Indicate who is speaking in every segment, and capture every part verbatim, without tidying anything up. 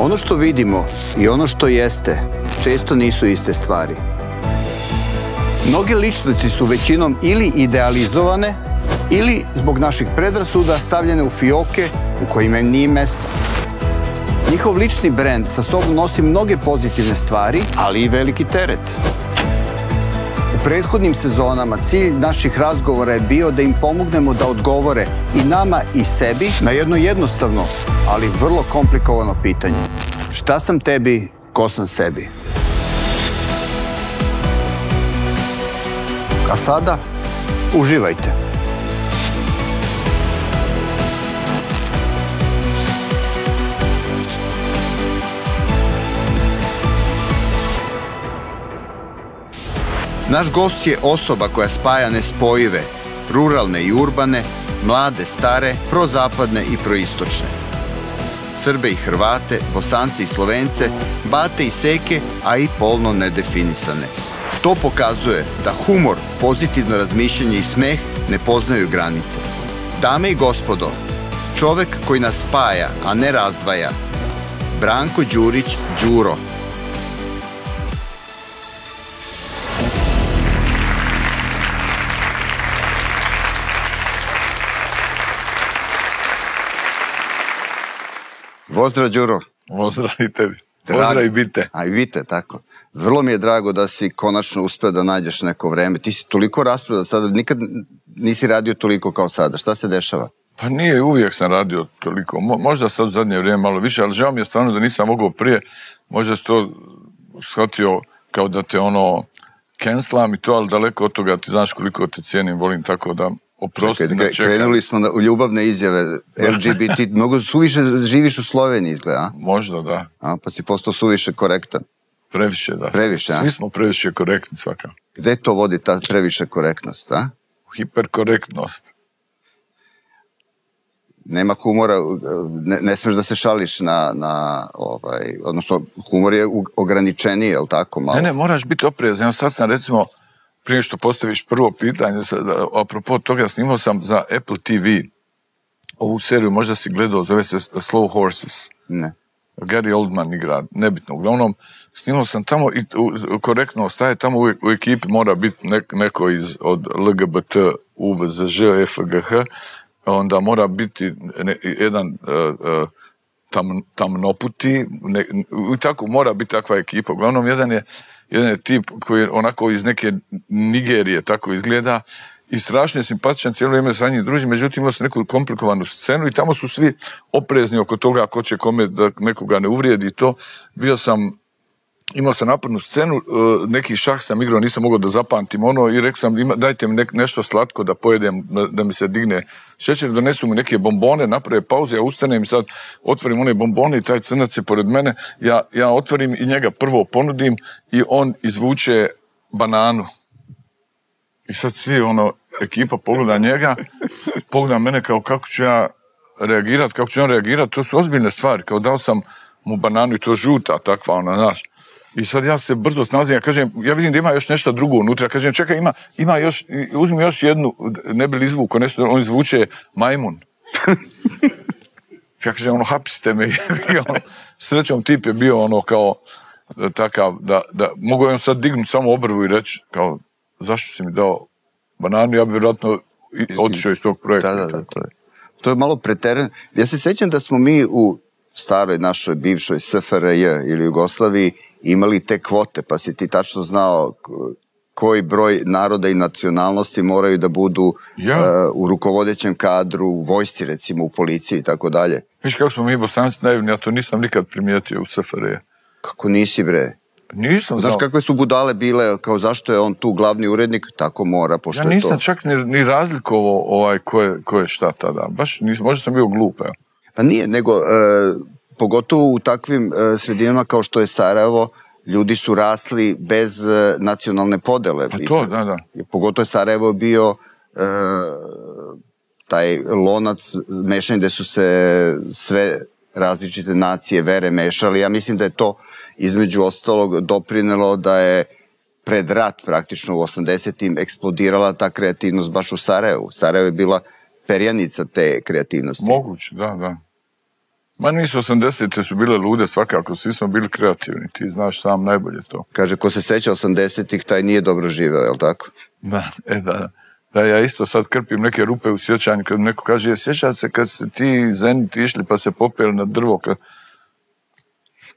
Speaker 1: Ono što vidimo i ono što jeste često nisu iste stvari. Mnoge ličnosti su većinom ili idealizovane ili zbog naših predrasuda stavljene u fioke u kojima im nije mesta. Njihov lični brend sa sobom nosi mnoge pozitivne stvari, ali i veliki teret. U prethodnim sezonama cilj naših razgovora je bio da im pomognemo da odgovore i nama i sebi na jedno jednostavno, ali vrlo komplikovano pitanje. Šta sam tebi, ko sam sebi? A sada, uživajte. Naš gost je osoba koja spaja nespojive, ruralne i urbane, mlade, stare, prozapadne i proistočne. Srbe i Hrvate, Bosance i Slovence, Bate i Seke, a i polno nedefinisane. To pokazuje da humor, pozitivno razmišljanje i smeh ne poznaju granice. Dame i gospodo, čovek koji nas spaja, a ne razdvaja, Branko Đurić Đuro. Pozdrav, Đuro.
Speaker 2: Pozdrav i tebi. Pozdrav i bite.
Speaker 1: A i bite, tako. Vrlo mi je drago da si konačno uspeo da nađeš neko vreme. Ti si toliko raspredan sada, nikad nisi radio toliko kao sada. Šta se dešava?
Speaker 2: Pa nije, uvijek sam radio toliko. Možda sad u zadnje vrijeme malo više, ali žao mi je stvarno da nisam mogao prije. Možda si to shvatio kao da te ono cancelam i to, ali daleko od toga ti znaš koliko te cijenim, volim, tako da oprosti na čekanje.
Speaker 1: Krenuli smo u ljubavne izjave, L G B T, mnogo suviše živiš u Sloveniji, izgleda, a?
Speaker 2: Možda, da.
Speaker 1: A, pa si postao suviše korektan.
Speaker 2: Previše, da.
Speaker 1: Previše, a?
Speaker 2: Svi smo previše korektni svaka.
Speaker 1: Gde to vodi ta previše korektnost, a?
Speaker 2: Hiperkorektnost.
Speaker 1: Nema humora, ne, ne smeš da se šališ na, na ovaj, odnosno humor je ograničeniji, je li tako malo?
Speaker 2: Ne, ne, moraš biti oprezan. Evo sad sam recimo, prije što postaviš prvo pitanje, apropo toga, snimao sam za Apple T V ovu seriju, možda si gledao, zove se Slow Horses.
Speaker 1: Ne.
Speaker 2: Gary Oldman igra, nebitno. Uglavnom, snimao sam tamo i korektno ostaje, tamo u, u ekipi mora biti nek, neko iz, od L G B T, U V Z Ž, F G H, onda mora biti ne, jedan uh, uh, tam, tamnoputi, ne, i tako mora biti takva ekipa. Uglavnom, jedan je jedan je tip koji je onako iz neke Nigerije tako izgleda i strašno je simpatičan, cijelo vrijeme sa njim druži, međutim imao sam neku komplikovanu scenu i tamo su svi oprezni oko toga ko će kome da nekoga ne uvrijedi i to. Bio sam, imao sam napornu scenu, neki šah sam igrao, nisam mogao da zapamtim ono i rekao sam ima, dajte mi ne, nešto slatko da pojedem, da, da mi se digne šećer, donesu mi neke bombone, naprave pauze, ja ustanem i sad otvorim one bombone i taj crnac je pored mene, ja, ja otvorim i njega prvo ponudim i on izvuče bananu. I sad svi, ono, ekipa pogleda njega, pogleda mene kao kako ću ja reagirati, kako ću on reagirati, to su ozbiljne stvari, kao dao sam mu bananu i to žuta, takva ona, znaš. I sad ja se brzo snalazim, ja kažem, ja vidim da ima još nešto drugo unutra, ja kažem, čekaj, ima, ima još, uzmi još jednu, ne bi li izvuko nešto, on izvuče majmun. Ja kažem, ono, hapsite me. Srećom tip je bio ono kao takav, da, da mogu on sad dignuti samo obrvu i reći, kao, zašto si mi dao bananu, ja bi vjerojatno otišao iz tog projekta.
Speaker 1: Da, da, da, to je, to je malo preterano. Ja se sjećam da smo mi u staroj našoj bivšoj S F R J ili Jugoslaviji imali te kvote, pa si ti tačno znao koji broj naroda i nacionalnosti moraju da budu ja. uh, u rukovodećem kadru, u vojsci recimo, u policiji i tako dalje.
Speaker 2: Viš kako smo mi Bosanci naivni, ja to nisam nikad primijetio u S F R J.
Speaker 1: Kako nisi, bre?
Speaker 2: Nisam
Speaker 1: Znaš
Speaker 2: znao.
Speaker 1: kakve su budale bile, kao zašto je on tu glavni urednik, tako mora, pošto
Speaker 2: ja
Speaker 1: je to...
Speaker 2: Ja nisam čak ni, ni razlikovao ovaj, ko, je, ko je šta tada, baš nisam, možda sam bio glup, evo.
Speaker 1: Pa nije, nego e, pogotovo u takvim e, sredinama kao što je Sarajevo, ljudi su rasli bez e, nacionalne podele.
Speaker 2: Pa to, da, da.
Speaker 1: I, pogotovo je Sarajevo bio e, taj lonac mešanja gde su se sve različite nacije, vere mešali. Ja mislim da je to između ostalog doprinelo da je pred rat praktično u osamdesetim eksplodirala ta kreativnost baš u Sarajevu. Sarajevo je bila perjanica te kreativnosti.
Speaker 2: Moguće, da, da. Ma nisu osamdesete su bile lude svakako, svi smo bili kreativni, ti znaš sam najbolje to.
Speaker 1: Kaže, ko se seća osamdesetih, taj nije dobro živeo, je li tako?
Speaker 2: Da, e da, da ja isto sad krpim neke rupe u sjećanju, kad neko kaže, sjećate se kad ste ti Zenit išli pa se popeli na drvo, kad...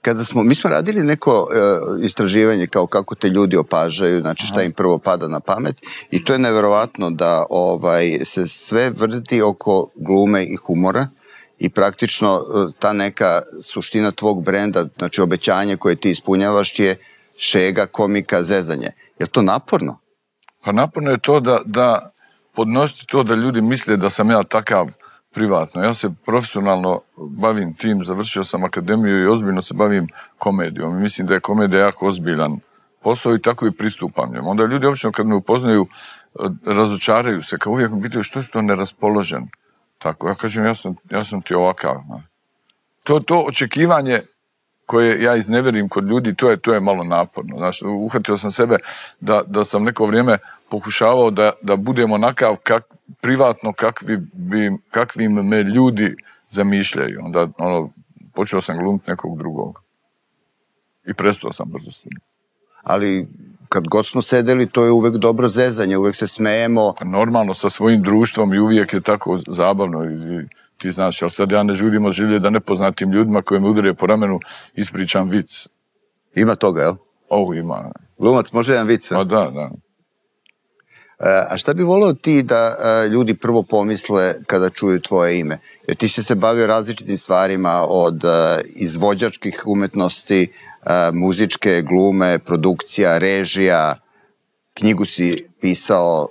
Speaker 1: Kada smo, mi smo radili neko e, istraživanje kao kako te ljudi opažaju, znači šta im prvo pada na pamet i to je neverovatno da ovaj, se sve vrti oko glume i humora i praktično ta neka suština tvog brenda, znači obećanje koje ti ispunjavaš je šega, komika, zezanje. Je li to naporno?
Speaker 2: Pa naporno je to da, da podnositi to da ljudi misle da sam ja takav privatno. Ja se profesionalno bavim tim, završio sam akademiju i ozbiljno se bavim komedijom. Mislim da je komedija jako ozbiljan posao i tako i pristupam njemu. Onda ljudi obično kad me upoznaju razočaraju se, kao uvijek mi pitaju što je to neraspoložen. Tako, ja kažem, ja sam, ja sam ti ovakav. To, to očekivanje koje ja izneverim kod ljudi, to je, to je malo naporno. Znači, uhvatio sam sebe da, da sam neko vrijeme pokušavao da, da budem onakav kak, privatno kakvi, bi, kakvim me ljudi zamišljaju. Onda ono, počeo sam glumiti nekog drugog. I prestao sam brzo s tim.
Speaker 1: Ali kad god smo sedeli, to je uvek dobro zezanje, uvek se smejemo.
Speaker 2: Normalno, sa svojim društvom i uvijek je tako zabavno i ti znaš, ali sad ja ne žudim od želje da nepoznatim ljudima koji me udare po ramenu ispričam vic.
Speaker 1: Ima toga, jel?
Speaker 2: Ovo ima.
Speaker 1: Glumac može jedan vic, a?
Speaker 2: A da, da.
Speaker 1: A šta bi volio ti da ljudi prvo pomisle kada čuju tvoje ime? Jer ti si se bavio različitim stvarima od izvođačkih umetnosti, muzičke, glume, produkcija, režija, knjigu si pisao.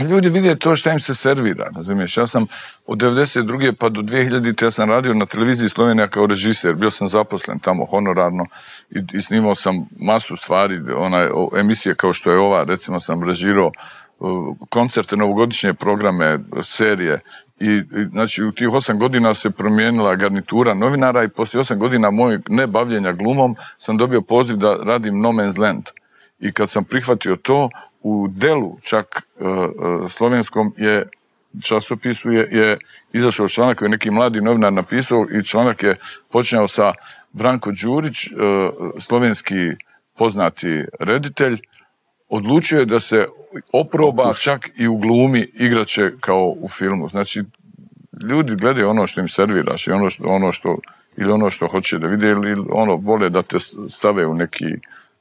Speaker 2: Ljudi vide to što im se servira, razumiješ. Ja sam od devedeset druge pa do dvije hiljadite ja sam radio na televiziji Slovenija kao režiser, bio sam zaposlen tamo honorarno i, i snimao sam masu stvari, onaj, emisije kao što je ova, recimo sam režirao koncerte, novogodišnje programe, serije i, i znači u tih osam godina se promijenila garnitura novinara i poslije osam godina mojeg nebavljenja glumom sam dobio poziv da radim No Man's Land i kad sam prihvatio to, u Delu, čak uh, uh, slovenskom je časopisu je, je izašao članak koji je neki mladi novinar napisao i članak je počinjao sa Branko Đurić, uh, slovenski poznati reditelj, odlučio je da se oproba čak i u glumi igraće kao u filmu. Znači, ljudi gledaju ono što im serviraš i ono što, ono što, ili ono što hoće da vide ili ono vole da te stave u neki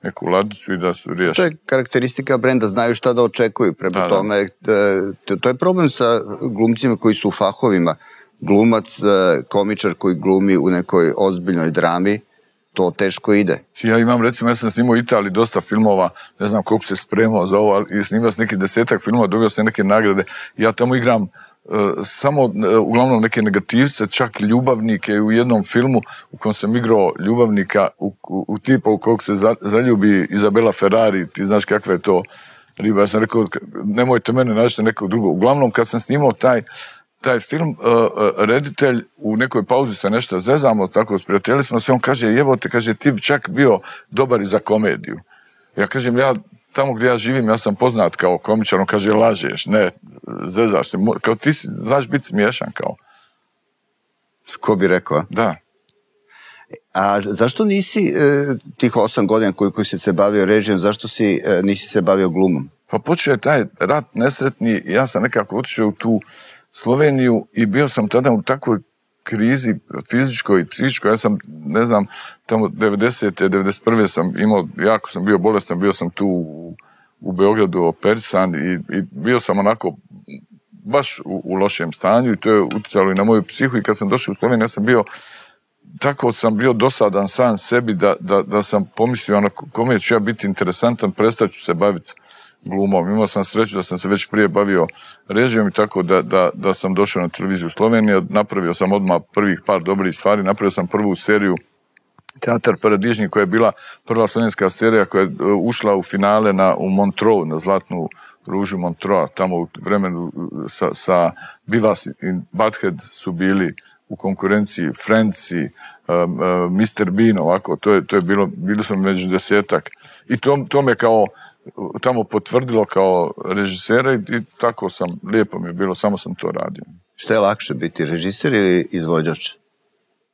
Speaker 2: neku ladicu i da su riješi.
Speaker 1: To je karakteristika brenda, znaju šta da očekuju. Prema da, tome, da. To je problem sa glumcima koji su u fahovima. Glumac, komičar koji glumi u nekoj ozbiljnoj drami, to teško ide.
Speaker 2: Ja imam, recimo, ja sam snimao u Italiji dosta filmova, ne znam koliko se spremao za ovo, ali snimao sam neki desetak filmova, dobio sam neke nagrade. Ja tamo igram Uh, samo uh, uglavnom neke negativce, čak ljubavnike u jednom filmu u kojem sam igrao ljubavnika u, u, u tipa u kojeg se za, zaljubi Izabela Ferrari, ti znaš kakva je to riba, ja sam rekao nemojte mene naći nekog drugog. Uglavnom kad sam snimao taj, taj film, uh, uh, reditelj u nekoj pauzi se nešto zezamo, tako sprijateljili smo se, on kaže jevo te, kaže ti bi čak bio dobar i za komediju. Ja kažem ja tamo gdje ja živim, ja sam poznat kao komičar, on kaže, lažeš, ne, zezaš se, kao ti si, znaš biti smiješan, kao.
Speaker 1: Ko bi rekao?
Speaker 2: Da.
Speaker 1: A zašto nisi e, tih osam godina koliko si se bavio režijom, zašto si, e, nisi se bavio glumom?
Speaker 2: Pa počeo je taj rat nesretni, ja sam nekako otišao u tu Sloveniju i bio sam tada u takvoj krizi fizičkoj i psihičkoj, ja sam, ne znam, tamo devedesete, devedeset prve sam imao, jako sam bio bolestan, bio sam tu u, u Beogradu operisan i, i bio sam onako baš u, u lošem stanju i to je utjecalo i na moju psihu i kad sam došao u Sloveniju, ja sam bio, tako sam bio dosadan sam sebi da, da, da sam pomislio onako, kome ću ja biti interesantan, prestat ću se baviti glumom. Imao sam sreću da sam se već prije bavio režijom i tako da, da, da sam došao na televiziju Slovenije, napravio sam odmah prvih par dobrih stvari, napravio sam prvu seriju Teatar Paradižnik koja je bila prva slovenska serija koja je ušla u finale na, u Montreux, na Zlatnu ružu Montreux, tamo u vremenu sa, sa Beavis i Butthead su bili u konkurenciji Friendsi, um, uh, mister Bean, ovako, to je, to je bilo, bili smo među desetak i to, to me kao tamo potvrdilo kao režisera i, i tako sam, lijepo mi je bilo, samo sam to radio.
Speaker 1: Što je lakše biti, režiser ili izvođač?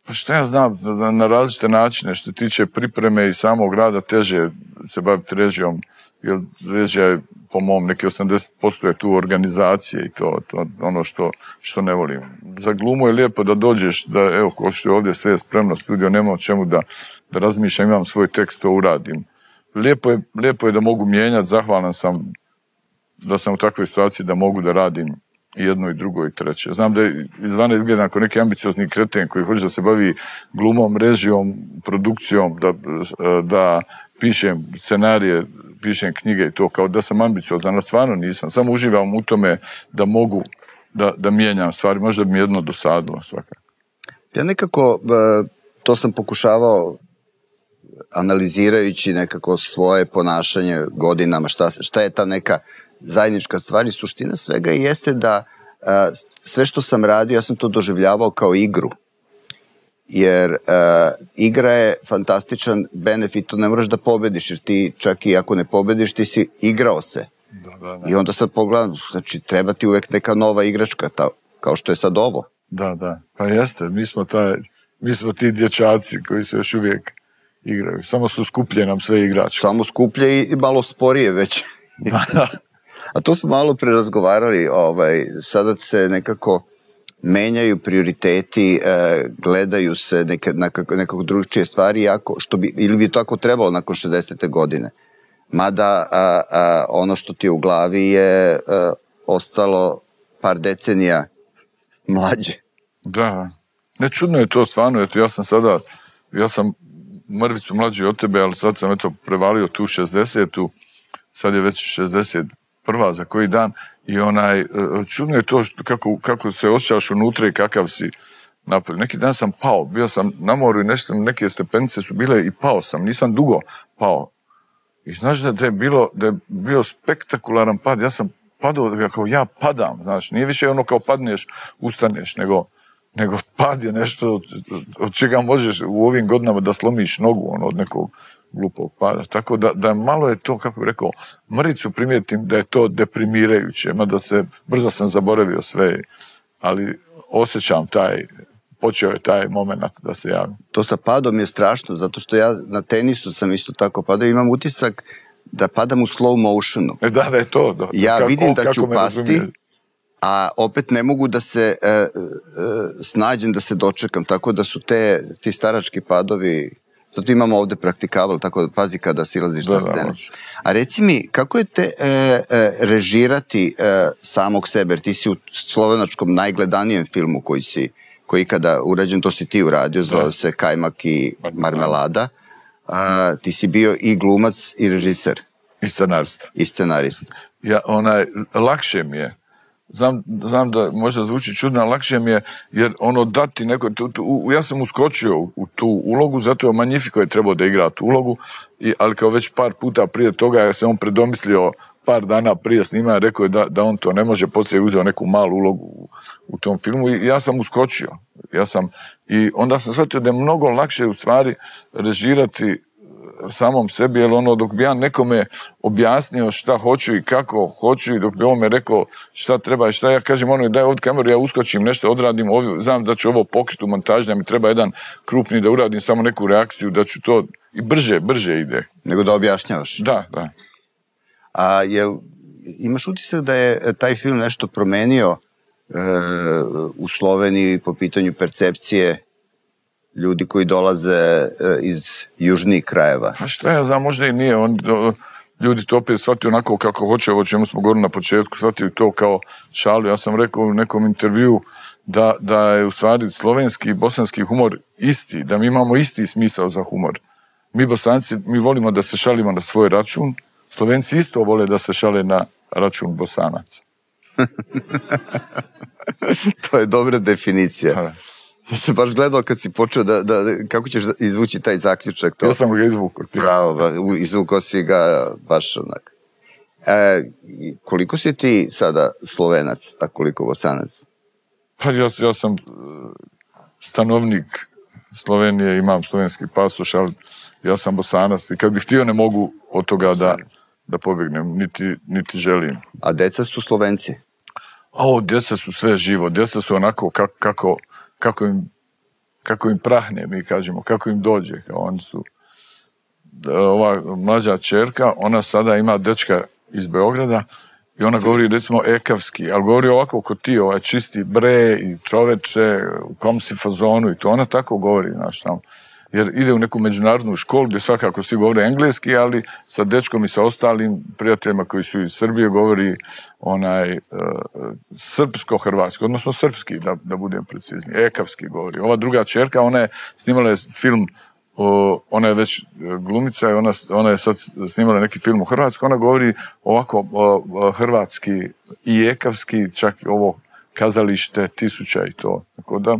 Speaker 2: Pa šta ja znam, na, na različite načine, što tiče pripreme i samog rada, teže se baviti režijom, jer režija je, po mom, neki osamdeset posto je tu organizacije i to, to ono što, što ne volim. Za glumu je lijepo da dođeš, da evo, ko što je ovdje sve spremno, studio, nema o čemu da, da razmišljam, imam svoj tekst, to uradim. Lijepo je, lijepo je da mogu mijenjati, zahvalan sam da sam u takvoj situaciji da mogu da radim i jedno i drugo i treće. Znam da je izvana izgleda kao neki ambiciozni kreten koji hoće da se bavi glumom, režijom, produkcijom, da, da pišem scenarije, pišem knjige i to, kao da sam ambiciozan, ali stvarno nisam. Samo uživam u tome da mogu da, da mijenjam stvari. Možda bi mi jedno dosadilo svakako.
Speaker 1: Ja nekako, to sam pokušavao analizirajući nekako svoje ponašanje godinama, šta, šta je ta neka zajednička stvar i suština svega jeste da a, sve što sam radio, ja sam to doživljavao kao igru. Jer a, igra je fantastičan benefit, to ne moraš da pobediš, jer ti čak i ako ne pobediš, ti si igrao se.
Speaker 2: Da, da, da.
Speaker 1: I onda sad pogledam, znači treba ti uvek neka nova igračka, ta, kao što je sad ovo.
Speaker 2: Da, da, pa jeste, mi smo, taj, mi smo ti dječaci koji se još uvijek igraju, samo su skuplje nam sve igračke.
Speaker 1: Samo skuplje i malo sporije već.
Speaker 2: Da, da.
Speaker 1: A to smo malo prerazgovarali, ovaj, sada se nekako menjaju prioriteti, eh, gledaju se neke, nekako, nekako drugčije stvari, jako, što bi, ili bi to tako trebalo nakon šezdesete godine. Mada a, a, ono što ti je u glavi je a, ostalo par decenija mlađe.
Speaker 2: Da, ne čudno je to stvarno, eto ja sam sada, ja sam mrvicu mlađi od tebe, ali sad sam eto prevalio tu šezdesetu, sad je već šezdeset prva za koji dan i onaj, čudno je to što, kako, kako se osjećaš unutra i kakav si napolje. Neki dan sam pao, bio sam na moru i nešto, neke stepenice su bile i pao sam, nisam dugo pao. I znaš da je, bilo, da je bio spektakularan pad, ja sam padao kao ja padam, znaš, nije više ono kao padneš, ustaneš, nego, nego pad je nešto od, od čega možeš u ovim godinama da slomiš nogu, ono, od nekog glupog pada. Tako da, da malo je to, kako bih rekao, mrvicu primijetim da je to deprimirajuće, mada se, brzo sam zaboravio sve, ali osjećam taj, počeo je taj moment da se javim.
Speaker 1: To sa padom je strašno, zato što ja na tenisu sam isto tako padao, imam utisak da padam u slow motionu.
Speaker 2: E da, da je to. Da,
Speaker 1: ja
Speaker 2: kako,
Speaker 1: vidim da ću pasti,
Speaker 2: razumije.
Speaker 1: a opet ne mogu da se e, e, snađem da se dočekam, tako da su te, ti starački padovi, zato imamo ovde praktikabel, tako da pazi kada silaziš sa scene. Da, a reci mi, kako je te e, e, režirati e, samog sebe, jer ti si u slovenačkom najgledanijem filmu koji si koji kada urađen, to si ti uradio, zvao se Kajmak i marmelada. A, ti si bio i glumac i režiser.
Speaker 2: I scenarista.
Speaker 1: I scenarista.
Speaker 2: Ja, onaj, lakše mi je. Znam, znam da možda zvuči čudno, ali lakše mi je, jer ono dati neko, tu, tu, ja sam uskočio u, u tu ulogu, zato je Magnifico je trebao da igra tu ulogu, i, ali kao već par puta prije toga, ja sam on predomislio par dana prije snimanja, rekao je da, da on to ne može, poslije je uzeo neku malu ulogu u, u tom filmu i ja sam uskočio. Ja sam, i onda sam shvatio da je mnogo lakše u stvari režirati samom sebi, jer ono, dok bi ja nekome objasnio šta hoću i kako hoću i dok bi on me rekao šta treba i šta, ja kažem ono, daj ovdje kameru, ja uskočim, nešto odradim, ovdje, znam da ću ovo pokriti u montaži, da mi treba jedan krupni da uradim samo neku reakciju, da ću to, i brže, brže ide.
Speaker 1: Nego da objašnjavaš.
Speaker 2: Da, da.
Speaker 1: A jel imaš utisak da je taj film nešto promenio e, u Sloveniji po pitanju percepcije ljudi koji dolaze e, iz južnih krajeva?
Speaker 2: Pa šta ja znam, možda i nije. On, do, ljudi to opet shvatio onako kako hoće, o čemu smo govorili na početku, shvatio to kao šalu. Ja sam rekao u nekom intervju da, da je u stvari slovenski i bosanski humor isti, da mi imamo isti smisao za humor. Mi Bosanci, mi volimo da se šalimo na svoj račun, Slovenci isto vole da se šale na račun Bosanaca.
Speaker 1: To je dobra definicija.
Speaker 2: Ha.
Speaker 1: Ja sam baš gledao kad si počeo da, da, kako ćeš izvući taj zaključak. To.
Speaker 2: Ja sam ga izvukao.
Speaker 1: Bravo, izvukao si ga baš onak. E, koliko si ti sada Slovenac, a koliko Bosanac?
Speaker 2: Pa ja, ja sam stanovnik Slovenije, imam slovenski pasoš, ali ja sam Bosanac i kad bih htio ne mogu od toga da, da pobjegnem, niti, niti želim.
Speaker 1: A deca su Slovenci?
Speaker 2: O, djeca su sve živo, djeca su onako kako, kako, kako im kako im prahne, mi kažemo, kako im dođe, kao oni su. Ova mlađa čerka, ona sada ima dečka iz Beograda i ona govori, recimo, ekavski, ali govori ovako ko ti, ovaj čisti bre i čoveče, u kom si fazonu i to, ona tako govori, znaš, tamo. Jer ide u neku međunarodnu školu gdje svakako svi govore engleski, ali sa dečkom i sa ostalim prijateljima koji su iz Srbije govori onaj uh, srpsko-hrvatski, odnosno srpski, da, da budem precizniji, ekavski govori. Ova druga čerka, ona je snimala film, uh, ona je već glumica i ona, ona je sad snimala neki film u Hrvatskoj, ona govori ovako uh, hrvatski i ekavski, čak ovo kazalište tisuća i to. Tako da,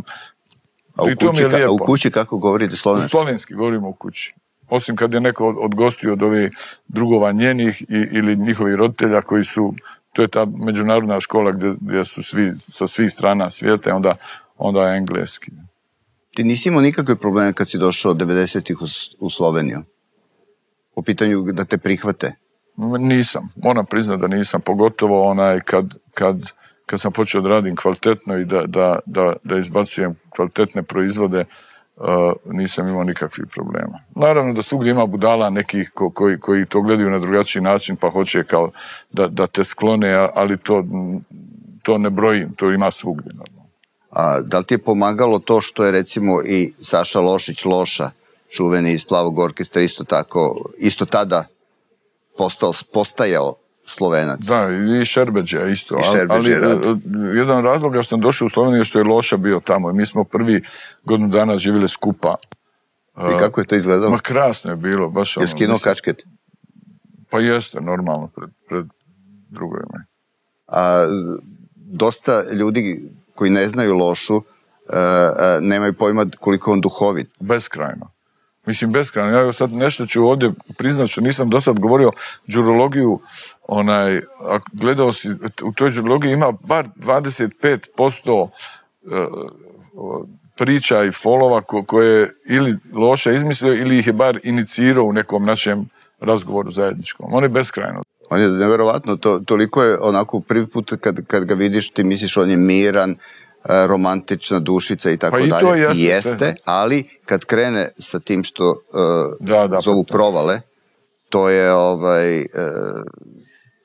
Speaker 3: A u, kući, ka, a u kući kako govorite slovenski?
Speaker 2: Slovenski govorimo u kući. Osim kad je neko od, od gostiju od ovih drugova njenih i, ili njihovih roditelja koji su, to je ta međunarodna škola gdje, gdje su svi sa svih strana svijeta, onda, onda je engleski.
Speaker 3: Ti nisi imao nikakve probleme kad si došao devedesetih u, u Sloveniju? Po pitanju da te prihvate?
Speaker 2: Nisam. Moram priznati da nisam. Pogotovo onaj kad... kad kad sam počeo da radim kvalitetno i da, da, da, da izbacujem kvalitetne proizvode, uh, nisam imao nikakvih problema. Naravno da svugdje ima budala nekih ko, koji, koji to gledaju na drugačiji način, pa hoće kao da, da te sklone, ali to, to ne brojim, to ima svugdje.
Speaker 3: A da li ti je pomagalo to što je recimo i Saša Lošić Loša, čuveni iz Plavog orkestra, isto tako, isto tada postao, postajao Slovenac.
Speaker 2: Da, i Šerbeđa isto.
Speaker 3: I Šerbeđa,
Speaker 2: ali,
Speaker 3: ali
Speaker 2: jedan razlog što sam došao u Sloveniju što je Loša bio tamo. Mi smo prvi godinu dana živjeli skupa.
Speaker 3: I kako je to izgledalo?
Speaker 2: Ma krasno je bilo. Baš
Speaker 3: je skinuo kačket?
Speaker 2: Pa jeste, normalno, pred, pred drugovima.
Speaker 3: A dosta ljudi koji ne znaju Lošu uh, uh, nemaju pojma koliko on duhovit.
Speaker 2: Beskrajno. Mislim, beskrajno. Ja sad nešto ću ovdje priznat što nisam do sad govorio đurologiju, onaj, a gledao si, u toj đurologiji ima bar dvadeset pet posto uh, priča i folova ko, koje je ili Loša izmislio ili ih je bar inicirao u nekom našem razgovoru zajedničkom. On je beskrajno.
Speaker 3: On je neverovatno, to, toliko je onako prvi put kad, kad ga vidiš ti misliš on je miran, romantična dušica i tako
Speaker 2: pa
Speaker 3: dalje.
Speaker 2: I jeste,
Speaker 3: jeste ali kad krene sa tim što uh,
Speaker 2: da, da,
Speaker 3: zovu
Speaker 2: pa
Speaker 3: provale, to je ovaj, uh,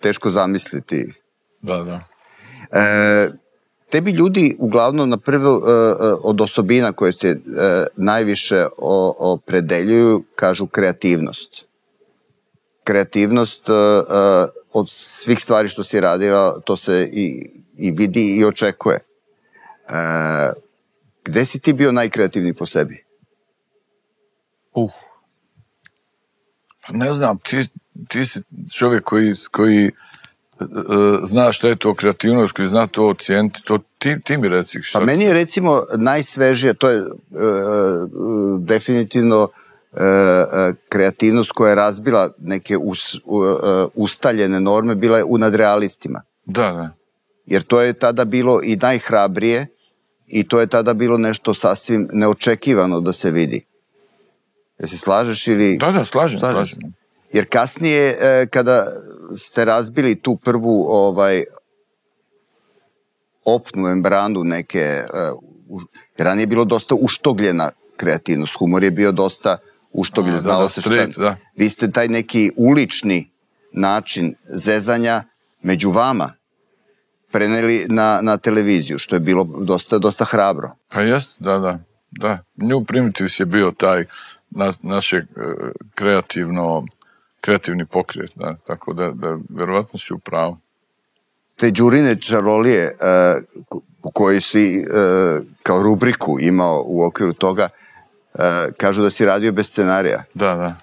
Speaker 3: teško zamisliti.
Speaker 2: Da, da.
Speaker 3: E, tebi ljudi uglavnom na prvo uh, od osobina koje se uh, najviše opredeljuju kažu kreativnost. Kreativnost uh, uh, od svih stvari što si radila, to se i, i vidi i očekuje. Uh, gde si ti bio najkreativniji po sebi?
Speaker 2: Uh. Pa ne znam, ti, ti si čovjek koji, koji uh, zna šta je to kreativnost, koji zna to ocijeniti, to ti, ti mi reci.
Speaker 3: Pa meni je recimo najsvežije, to je uh, uh, definitivno uh, uh, kreativnost koja je razbila neke us, uh, uh, ustaljene norme, bila je u nadrealistima.
Speaker 2: Da, da.
Speaker 3: Jer to je tada bilo i najhrabrije i to je tada bilo nešto sasvim neočekivano da se vidi. Jel se slažeš ili...
Speaker 2: Da, da, slažem, slažem. slažem.
Speaker 3: Jer kasnije, e, kada ste razbili tu prvu ovaj, opnu membranu neke... E, u, ranije je bilo dosta uštogljena kreativnost. Humor je bio dosta uštogljen, znalo da, da, se street, šta... Da. Vi ste taj neki ulični način zezanja među vama preneli na, na televiziju, što je bilo dosta, dosta hrabro.
Speaker 2: Pa jest, da, da. da. New Primitives je bio taj na, našeg kreativno, kreativni pokret, da. Tako da, da verovatno si u pravu.
Speaker 3: Te đurine čarolije uh, u kojoj si uh, kao rubriku imao u okviru toga, uh, kažu da si radio bez scenarija.
Speaker 2: Da, da.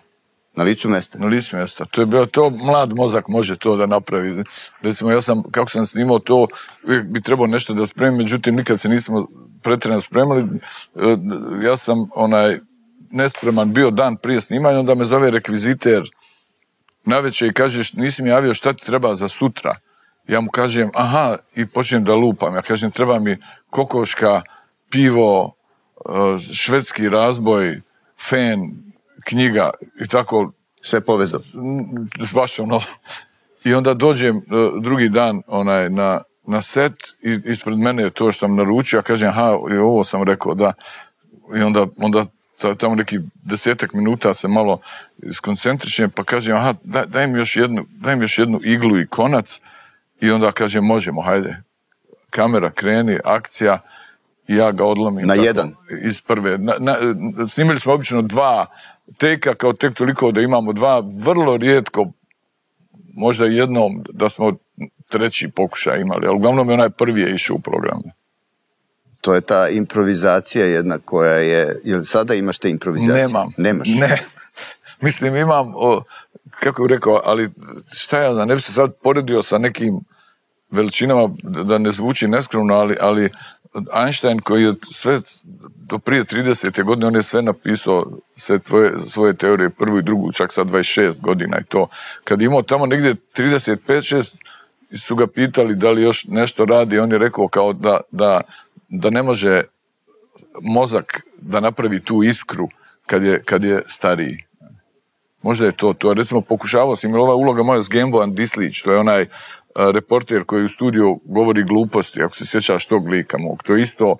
Speaker 3: Na licu mesta?
Speaker 2: Na licu mesta. To je bilo to, mlad mozak može to da napravi. Recimo, ja sam, kako sam snimao to, uvijek bi trebao nešto da spremim, međutim, nikad se nismo pretjerano spremali. Ja sam, onaj, nespreman bio dan prije snimanja, onda me zove rekviziter navečer i kaže, nisi mi javio šta ti treba za sutra. Ja mu kažem, aha, i počnem da lupam. Ja kažem, treba mi kokoška, pivo, švedski razboj, fen, knjiga i tako.
Speaker 3: Sve povezano.
Speaker 2: Baš ono. I onda dođem uh, drugi dan onaj, na, na set i ispred mene je to što sam naručio. Ja kažem, aha, i ovo sam rekao, da. i onda, onda tamo neki desetak minuta se malo skoncentrišem, pa kažem, aha, daj, daj, mi još jednu, daj mi još jednu iglu i konac, i onda kažem, možemo, hajde, kamera kreni, akcija, i ja ga odlomim.
Speaker 3: Na
Speaker 2: tako,
Speaker 3: jedan?
Speaker 2: Iz prve. Na, na, snimili smo obično dva teka, kao tek toliko da imamo dva, vrlo rijetko, možda jednom da smo treći pokušaj imali, ali uglavnom je onaj prvi je išao u programu.
Speaker 3: To je ta improvizacija jedna koja je... Jel sada imaš te improvizacije?
Speaker 2: Nemam.
Speaker 3: Nemaš?
Speaker 2: Ne. Mislim, imam, o, kako bih rekao, ali šta ja znam, ne bi se sad poredio sa nekim veličinama, da ne zvuči neskromno, ali, ali Einstein koji je sve do prije tridesete godine, on je sve napisao, sve tvoje, svoje teorije, prvu i drugu, čak sad dvadeset šest godina i to. Kad je imao tamo negdje trideset pet šest, su ga pitali da li još nešto radi, on je rekao kao da, da, da ne može mozak da napravi tu iskru kad je, kad je stariji. Možda je to to. Recimo, pokušavao sam, imala ova uloga moja s Gembojan Dislić, to je onaj uh, reporter koji u studiju govori gluposti, ako se sjećaš tog lika mog. To je isto,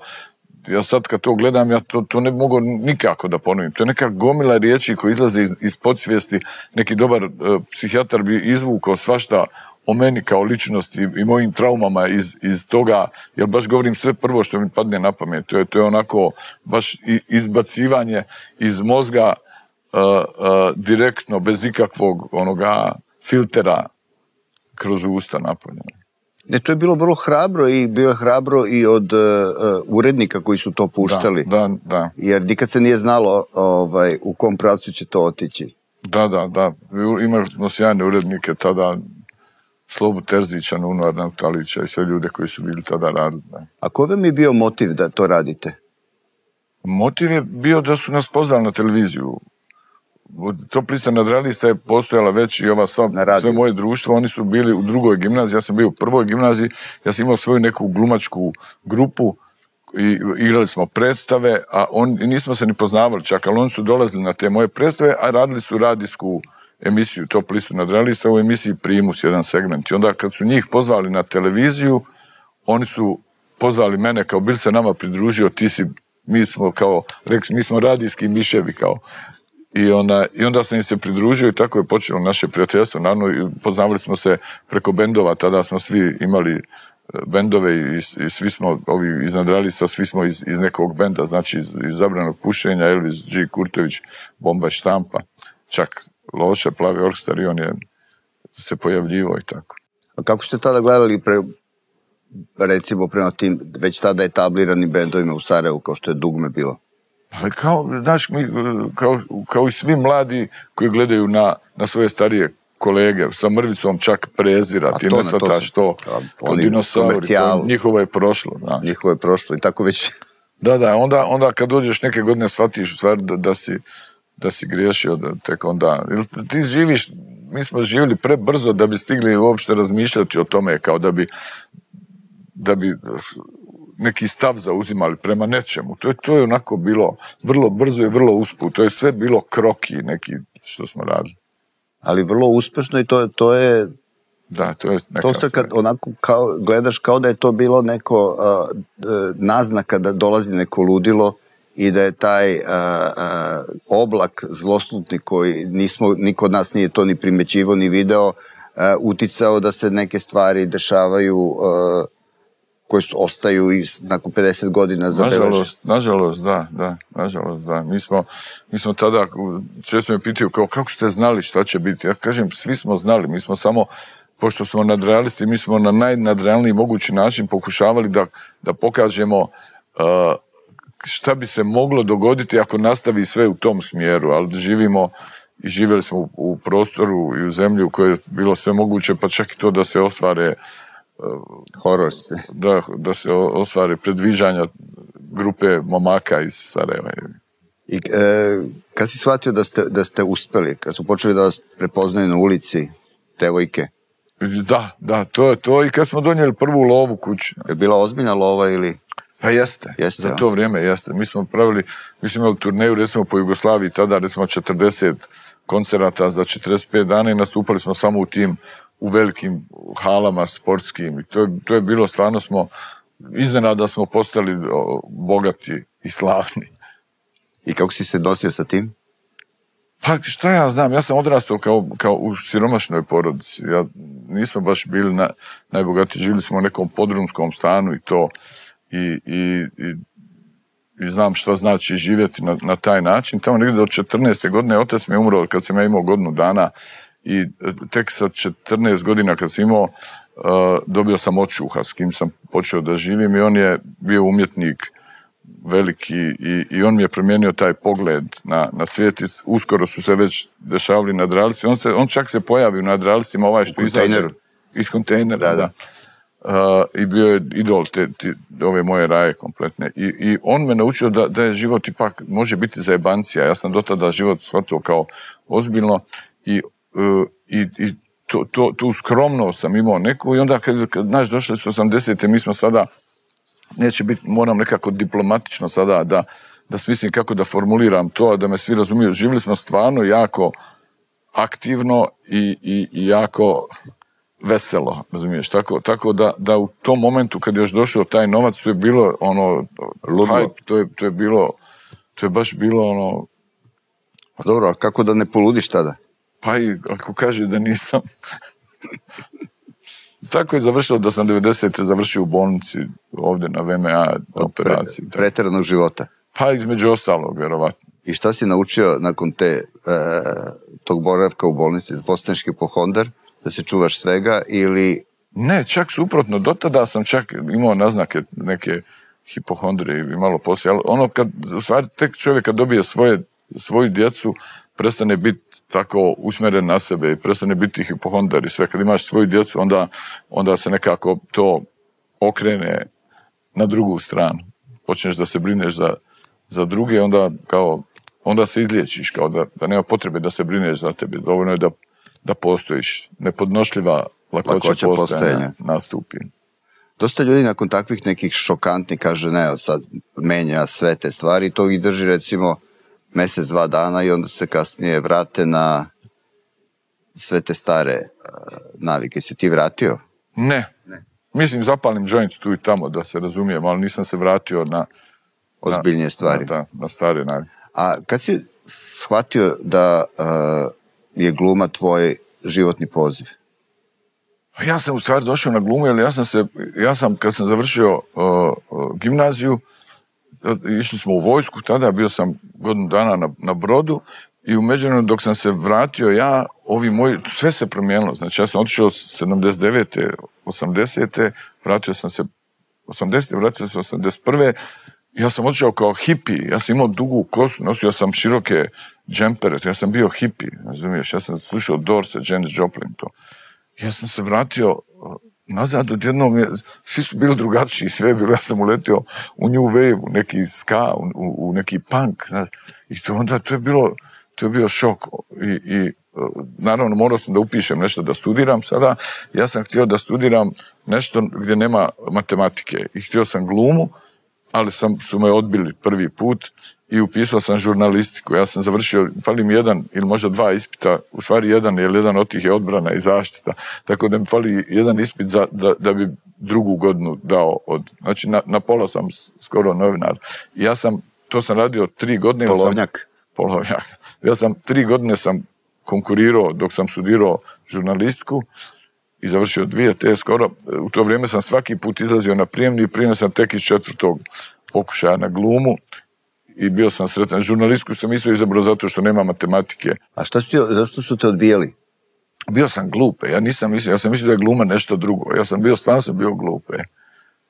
Speaker 2: ja sad kad to gledam, ja to, to ne mogu nikako da ponovim. To je neka gomila riječi koja izlaze iz, iz podsvijesti. Neki dobar uh, psihijatar bi izvukao svašta o meni kao ličnosti i mojim traumama iz, iz toga, jer baš govorim sve prvo što mi padne na pamet. To je, to je onako baš izbacivanje iz mozga uh, uh, direktno, bez ikakvog onoga filtera kroz usta napunjeno.
Speaker 3: Ne, to je bilo vrlo hrabro i bio je hrabro i od uh, urednika koji su to puštali.
Speaker 2: Da, da, da.
Speaker 3: Jer nikad se nije znalo ovaj, u kom pravcu će to otići.
Speaker 2: Da, da, da. Imali smo sjajne urednike tada, Slobu Terzića, Nuno Arnautalića i sve ljude koji su bili tada radili. Da.
Speaker 3: A koji vam je bio motiv da to radite?
Speaker 2: Motiv je bio da su nas pozvali na televiziju. Top lista nadrealista je postojala već i ova sva, sve moje društvo, oni su bili u drugoj gimnaziji, ja sam bio u prvoj gimnaziji, ja sam imao svoju neku glumačku grupu i igrali smo predstave, a on, nismo se ni poznavali čak, ali oni su dolazili na te moje predstave, a radili su radijsku emisiju Top listu nadrealista, u emisiji Primus, jedan segment. I onda kad su njih pozvali na televiziju, oni su pozvali mene, kao bil se nama pridružio, ti si, mi smo kao, reks, mi smo radijski miševi kao. I onda, I onda sam im se pridružio i tako je počelo naše prijateljstvo. Naravno, poznavali smo se preko bendova, tada smo svi imali bendove i, i svi smo, ovi iz nadrealista, svi smo iz, iz nekog benda, znači iz, iz Zabranog pušenja, Elvis G. Kurtović, Bomba štampa, čak Loše, Plavi Orkestar i on je se pojavljivo i tako.
Speaker 3: A kako ste tada gledali pre, recimo prema tim već tada etabliranim bendovima u Sarajevu kao što je Dugme bilo?
Speaker 2: Pa kao, znaš, mi, kao, kao i svi mladi koji gledaju na, na svoje starije kolege, sa mrvicom čak prezirati, ne shvataš to, kao dinosauri, to, njihovo je prošlo. Znaš.
Speaker 3: Njihovo je prošlo i tako već...
Speaker 2: Da, da, onda, onda kad dođeš neke godine shvatiš u stvari da, da si da si griješio, da tek onda... Ti živiš, mi smo živjeli prebrzo da bi stigli uopšte razmišljati o tome, kao da bi da bi neki stav zauzimali prema nečemu. To je, to je onako bilo vrlo brzo i vrlo usput. To je sve bilo kroki neki što smo radili.
Speaker 3: Ali vrlo uspešno i to, to je...
Speaker 2: Da, to je neka...
Speaker 3: To se kad onako kao, gledaš kao da je to bilo neko uh, naznaka da dolazi neko ludilo i da je taj uh, uh, oblak zloslutni koji nismo, niko od nas nije to ni primećivo ni video, uh, uticao da se neke stvari dešavaju uh, koje su, ostaju i nakon pedeset godina zabeleže.
Speaker 2: Nažalost, nažalost, da, da, nažalost, da. Mi smo, mi smo tada, često me pitaju kao, kako ste znali šta će biti? Ja kažem, svi smo znali, mi smo samo, pošto smo nadrealisti, mi smo na najnadrealniji mogući način pokušavali da, da pokažemo uh, šta bi se moglo dogoditi ako nastavi sve u tom smjeru, ali živimo i živjeli smo u, u prostoru i u zemlji u kojoj je bilo sve moguće, pa čak i to da se ostvare
Speaker 3: horor.
Speaker 2: Da, da se ostvare predviđanja grupe momaka iz Sarajeva.
Speaker 3: I e, kad si shvatio da ste, da ste uspeli, kad su počeli da vas prepoznaju na ulici devojke?
Speaker 2: Da, da, to je to i kad smo donijeli prvu lovu kući.
Speaker 3: Je bila ozbiljna lova ili...
Speaker 2: Pa jeste, jeste za ja. To vrijeme jeste. Mi smo pravili, mi smo imali turneju recimo po Jugoslaviji, tada recimo četrdeset koncerata za četrdeset pet dana i nastupali smo samo u tim, u velikim halama sportskim. I to je, to je bilo, stvarno smo, iznenada smo postali o, bogati i slavni.
Speaker 3: I kako si se nosio sa tim?
Speaker 2: Pa šta ja znam, ja sam odrastao kao, kao u siromašnoj porodici. Ja, nismo baš bili na, najbogatiji, živjeli smo u nekom podrumskom stanu i to. I, i, i, i znam šta znači živjeti na, na taj način. Tamo negdje do četrnaeste godine otac mi je umro kad sam ja imao godinu dana i tek sa četrnaest godina kad sam imao uh, dobio sam očuha s kim sam počeo da živim i on je bio umjetnik veliki i, i on mi je promijenio taj pogled na, na svijet i uskoro su se već dešavali nadrealci. On, se, on čak se pojavi u nadrealcima ovaj što izađe iz kontejnera. Da, da. Uh, I bio je idol te, te, ove moje raje kompletne. I, i on me naučio da, da je život ipak može biti zajebancija. Ja sam do tada život shvatio kao ozbiljno i, uh, i, i to, to, tu skromno sam imao neku i onda kad, kad znaš, došli su osamdesete, mi smo sada neće biti, moram nekako diplomatično sada da, da smislim kako da formuliram to, da me svi razumiju. Živjeli smo stvarno jako aktivno i, i, i jako veselo, razumiješ? Tako, tako da, da u tom momentu kad je još došao taj novac, to je bilo ono, hype, to je, to je bilo, to je baš bilo ono...
Speaker 3: A dobro, a kako da ne poludiš tada?
Speaker 2: Pa i ako kaže da nisam... Tako je završilo da sam devedesete završio u bolnici ovdje na V M A operaciji.
Speaker 3: Pre, pretjeranog života?
Speaker 2: Pa između ostalog, vjerovatno.
Speaker 3: I šta si naučio nakon te, e, tog boravka u bolnici? Da postaneš hipohondar, da se čuvaš svega ili...
Speaker 2: Ne, čak suprotno. Do tada sam čak imao naznake neke hipohondrije i malo poslije. Ali ono kad, u stvari, tek čovjek kad dobije svoje, svoju djecu, prestane biti tako usmjeren na sebe i prestane biti hipohondar i sve. Kad imaš svoju djecu, onda, onda se nekako to okrene na drugu stranu. Počneš da se brineš za, za druge, onda, kao, onda se izliječiš, kao da, da nema potrebe da se brineš za tebe. Dovoljno je da, da postojiš. Nepodnošljiva lakoća, lakoća postojanja nastupi.
Speaker 3: Dosta ljudi nakon takvih nekih šokantnih kaže, ne, sad menja sve te stvari, to ih drži recimo mjesec, dva dana i onda se kasnije vrate na sve te stare uh, navike. Si ti vratio?
Speaker 2: Ne. ne. Mislim, zapalim joint tu i tamo, da se razumijem, ali nisam se vratio na...
Speaker 3: Ozbiljnije stvari.
Speaker 2: Na, na, na stare navike.
Speaker 3: A kad si shvatio da uh, je gluma tvoj životni poziv?
Speaker 2: Ja sam u stvari došao na glumu, jer ja sam se, ja sam, kad sam završio uh, uh, gimnaziju, išli smo u vojsku, tada bio sam godinu dana na, na brodu i u međuvremenu dok sam se vratio ja, ovi moji, sve se promijenilo. Znači ja sam otišao sedamdeset devete, osamdesete, vratio sam se osamdesete, vratio sam se osamdeset prve. Ja sam otišao kao hippie, ja sam imao dugu kosu, nosio sam široke džempere, ja sam bio hippie, razumiješ, ja sam slušao Doors, Janis Joplin, to. Ja sam se vratio nazad, odjednom je, svi su bili drugačiji, sve je bilo, ja sam uletio u New Wave, u neki ska, u, u neki punk, znaš, i to onda, to je bilo, to je bio šok i, i naravno morao sam da upišem nešto da studiram sada, ja sam htio da studiram nešto gdje nema matematike i htio sam glumu, ali sam, su me odbili prvi put i upisao sam žurnalistiku. Ja sam završio, fali mi jedan ili možda dva ispita, u stvari jedan, jer jedan od tih je odbrana i zaštita, tako da mi fali jedan ispit za, da, da bi drugu godinu dao od, znači na, na pola sam skoro novinar. I ja sam, to sam radio tri godine.
Speaker 3: Polovnjak.
Speaker 2: Sam, polovnjak. Ja sam, tri godine sam konkurirao dok sam studirao žurnalistiku i završio dvije te skoro. U to vrijeme sam svaki put izlazio na prijemni i primio sam tek iz četvrtog pokušaja na glumu i bio sam sretan. Žurnalistku sam isto izabrao zato što nema matematike.
Speaker 3: A šta su ti, zašto su te odbijali?
Speaker 2: Bio sam glupe. Ja nisam mislio, ja sam mislio da je gluma nešto drugo. Ja sam bio, stvarno sam bio glupe.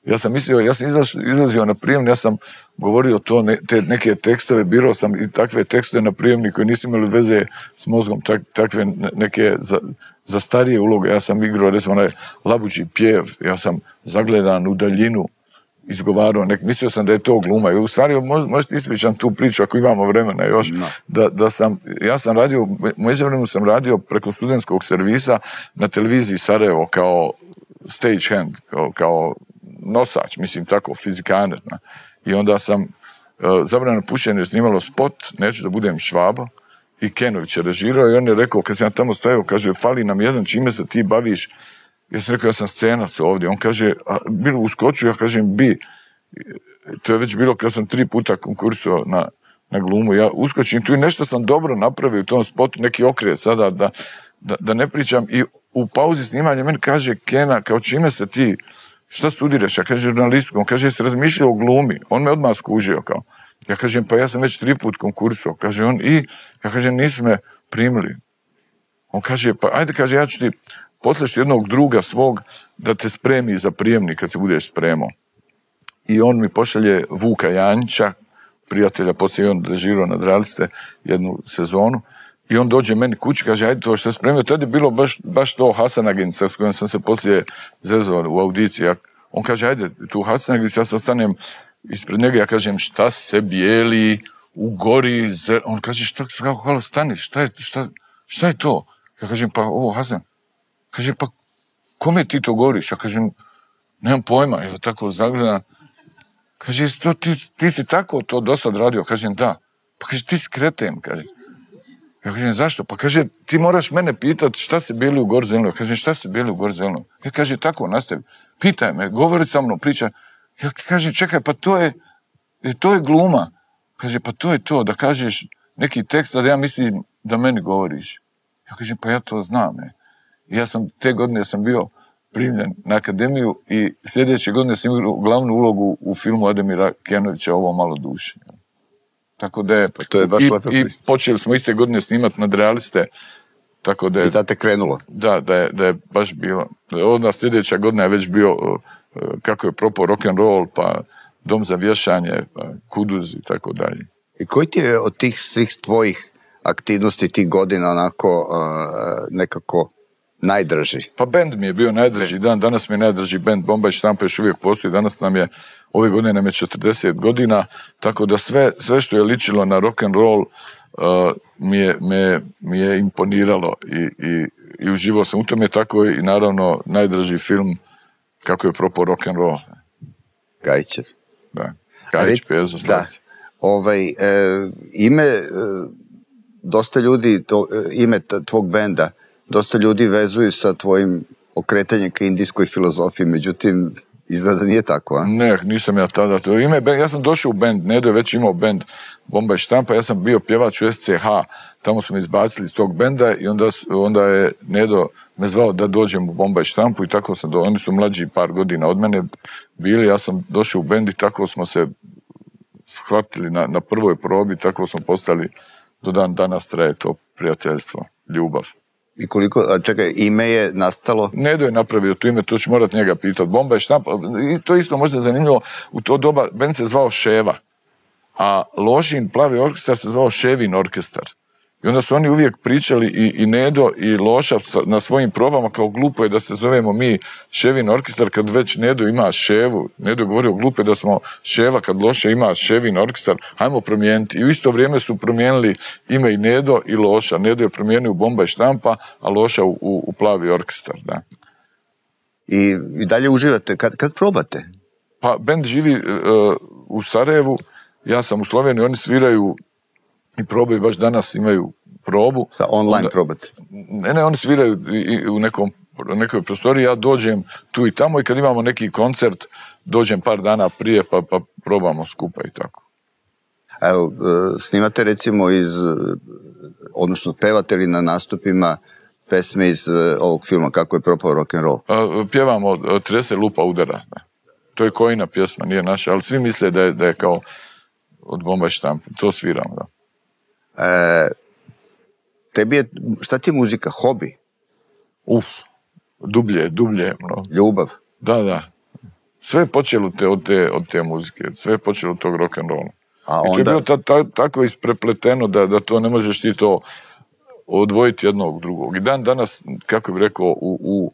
Speaker 2: Ja sam mislio, ja sam izlaz, izlazio na prijemni, ja sam govorio to, ne, te neke tekstove, birao sam i takve tekstove na prijemni koji nisu imali veze s mozgom, tak, takve neke za, za starije uloge. Ja sam igrao, recimo, onaj labuđi pjev, ja sam zagledan u daljinu, izgovarao, nek, mislio sam da je to gluma. I u stvari, možete ispričam tu priču ako imamo vremena još, no. da, da sam, ja sam radio, međuvremenu sam radio preko studentskog servisa na televiziji Sarajevo kao stage hand, kao, kao nosač, mislim tako, fizikaner. Na. I onda sam uh, zabrano pušenje snimalo spot, neću da budem Švaba, i Kenović je režirao i on je rekao, kad sam ja tamo stajao, kaže, fali nam jedan, čime se ti baviš? Ja sam rekao, ja sam scenac ovdje. On kaže, a bilo uskoču, ja kažem, bi. To je već bilo kad sam tri puta konkursao na, na glumu. Ja uskočim tu i nešto sam dobro napravio u tom spotu, neki okret sada, da, da, da ne pričam. I u pauzi snimanja meni kaže Kena, kao čime se ti, šta studiraš? Ja kažem žurnalistiku, on kaže jesi razmišljao o glumi. On me odmah skužio kao. Ja kažem pa ja sam već tri put konkursao. Kaže on i, ja kažem nisu me primili. On kaže pa ajde kaže ja ću ti poslati jednog druga svog da te spremi za prijemnik kad se budeš spremao. I on mi pošalje Vuka Janjića, prijatelja, poslije on dežirao nad realiste jednu sezonu. I on dođe meni kući, kaže, ajde to što je spremio. Tada je bilo baš, baš to Hasanaginica s kojom sam se poslije zezao u audiciji. Ja, on kaže, ajde, tu Hasanaginica, ja sam stanem ispred njega, ja kažem, šta se bijeli, u gori, zer... On kaže, šta, kako, hvala, stani, šta je, šta, šta je to? Ja kažem, pa ovo Hasan. Kaže, pa kome ti to govoriš? Ja kažem, nemam pojma, ja tako zagledam. Kaže, to, ti, ti si tako to dosad radio? Kažem, da. Pa kaže, ti si kreten, kaže. Ja kažem, zašto? Pa kaže, ti moraš mene pitati šta se bili u Gor Zelenoj. Ja kažem, šta se bili u Gor Zelenoj? Ja kaže, tako, nastavi. Pitaj me, govori sa mnom, priča. Ja kažem, čekaj, pa to je, to je gluma. Kaže, pa to je to, da kažeš neki tekst, da ja mislim da meni govoriš. Ja kažem, pa ja to znam. Ne. I ja sam, te godine sam bio primljen na akademiju i sljedeće godine sam imao glavnu ulogu u filmu Ademira Kenovića, Ovo malo duše. Tako da je,
Speaker 3: pa to je baš
Speaker 2: i,
Speaker 3: i
Speaker 2: počeli smo iste godine snimati nadrealiste. Tako da je,
Speaker 3: I tada te krenulo.
Speaker 2: Da, da je, da je baš bilo. Onda sljedeća godina je već bio kako je propao rock'n'roll, pa Dom za vješanje, pa Kuduz i tako dalje.
Speaker 3: I koji ti je od tih svih tvojih aktivnosti tih godina onako uh, nekako najdrži?
Speaker 2: Pa bend mi je bio najdrži dan, danas mi je najdrži bend, Bomba i štampa još uvijek postoji, danas nam je, ove godine nam je četrdeset godina, tako da sve, sve što je ličilo na rock'n'roll uh, mi, je, me, mi je imponiralo i, i, i uživao sam u tome, tako i naravno najdrži film kako je propao rock'n'roll.
Speaker 3: Gajićev.
Speaker 2: Da, Gajić, Pezo, Slavci.
Speaker 3: Ovaj, e, ime, e, dosta ljudi, to, ime tvog benda, dosta ljudi vezuju sa tvojim okretanjem ka indijskoj filozofiji, međutim, izgleda nije tako, a?
Speaker 2: Ne, nisam ja tada. To ime, ja sam došao u bend, Nedo je već imao bend Bomba i štampa, ja sam bio pjevač u S C H, tamo smo me izbacili iz tog benda i onda, onda je Nedo me zvao da dođem u Bomba i štampu i tako sam, do, oni su mlađi par godina od mene bili, ja sam došao u bend i tako smo se shvatili na, na prvoj probi, tako smo postali, do dan danas traje to prijateljstvo, ljubav.
Speaker 3: I koliko, a čekaj, ime je nastalo?
Speaker 2: Nedo je napravio to ime, to ću morat njega pitati. Bomba i štampa, i to isto možda zanimljivo, u to doba bend se zvao Ševa, a Lošin Plavi orkestar se zvao Ševin orkestar. I onda su oni uvijek pričali i, i Nedo i Loša na svojim probama kao glupo je da se zovemo mi Ševin orkestar kad već Nedo ima Ševu. Nedo je govorio glupo je da smo Ševa kad Loša ima Ševin orkestar, hajmo promijeniti. I u isto vrijeme su promijenili ime i Nedo i Loša. Nedo je promijenio u Bomba i štampa, a Loša u, u, u Plavi orkestar. Da.
Speaker 3: I, i dalje uživate, kad, kad probate?
Speaker 2: Pa bend živi uh, u Sarajevu, ja sam u Sloveniji, oni sviraju i probaju, baš danas imaju probu.
Speaker 3: Šta, online onda, probate?
Speaker 2: Ne, ne, oni sviraju i u nekom, nekoj prostoriji, ja dođem tu i tamo i kad imamo neki koncert, dođem par dana prije pa, pa probamo skupa i tako.
Speaker 3: Evo, snimate recimo iz, odnosno pevate li na nastupima pesme iz ovog filma Kako je propao rock'n'roll?
Speaker 2: Pjevamo Trese lupa udara. To je Kojina pjesma, nije naša, ali svi misle da je, da je kao od Bomba i štampa. To sviramo, da.
Speaker 3: E, tebi je, šta ti je muzika? Hobi?
Speaker 2: Uf, dublje, dublje. No.
Speaker 3: Ljubav?
Speaker 2: Da, da. Sve je počelo te, od, te, od te muzike, sve je počelo od tog rock'n'rolla.
Speaker 3: A
Speaker 2: I to
Speaker 3: onda...
Speaker 2: je bilo ta, ta, tako isprepleteno da, da to ne možeš ti to odvojiti jednog drugog. I dan danas, kako bih rekao, u, u,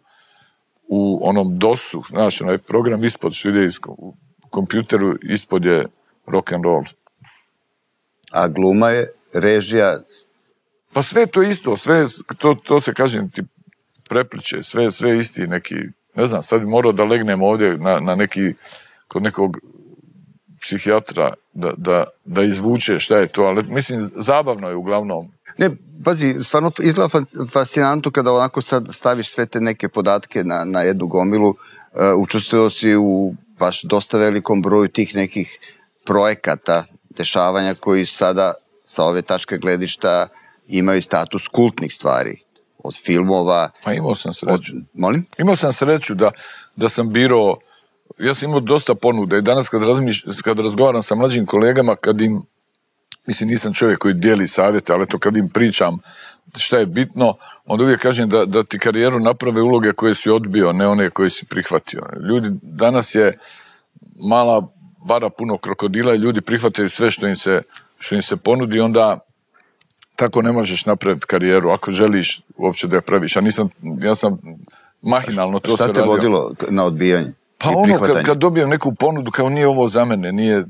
Speaker 2: u onom dosu, znaš, onaj program ispod što ide iz u kompjuteru, ispod je rock'n'roll.
Speaker 3: A gluma je, režija?
Speaker 2: Pa sve to isto, sve, to, to se kažem ti prepliče, sve, sve isti neki, ne znam, sad bi morao da legnem ovdje na, na neki, kod nekog psihijatra da, da, da izvuče šta je to, ali mislim, zabavno je uglavnom.
Speaker 3: Ne, pazi, stvarno izgleda fascinantno kada onako sad staviš sve te neke podatke na, na jednu gomilu, uh, učestvovao si u baš dosta velikom broju tih nekih projekata, dešavanja koji sada sa ove tačke gledišta imaju status kultnih stvari. Od filmova...
Speaker 2: Pa imao sam sreću.
Speaker 3: Od, molim?
Speaker 2: Imao sam sreću da, da sam birao, ja sam imao dosta ponuda i danas kad, razmiš, kad razgovaram sa mlađim kolegama, kad im, mislim nisam čovjek koji dijeli savjete, ali to kad im pričam šta je bitno, onda uvijek kažem da, da ti karijeru naprave uloge koje si odbio, ne one koje si prihvatio. Ljudi, danas je mala bara puno krokodila i ljudi prihvataju sve što im se, što im se ponudi, onda tako ne možeš napraviti karijeru ako želiš uopće da je praviš. Ja, nisam, ja sam mahinalno to se radio.
Speaker 3: Šta te vodilo na odbijanje?
Speaker 2: Pa ono, kad, kad dobijem neku ponudu, kao nije ovo za mene, nije...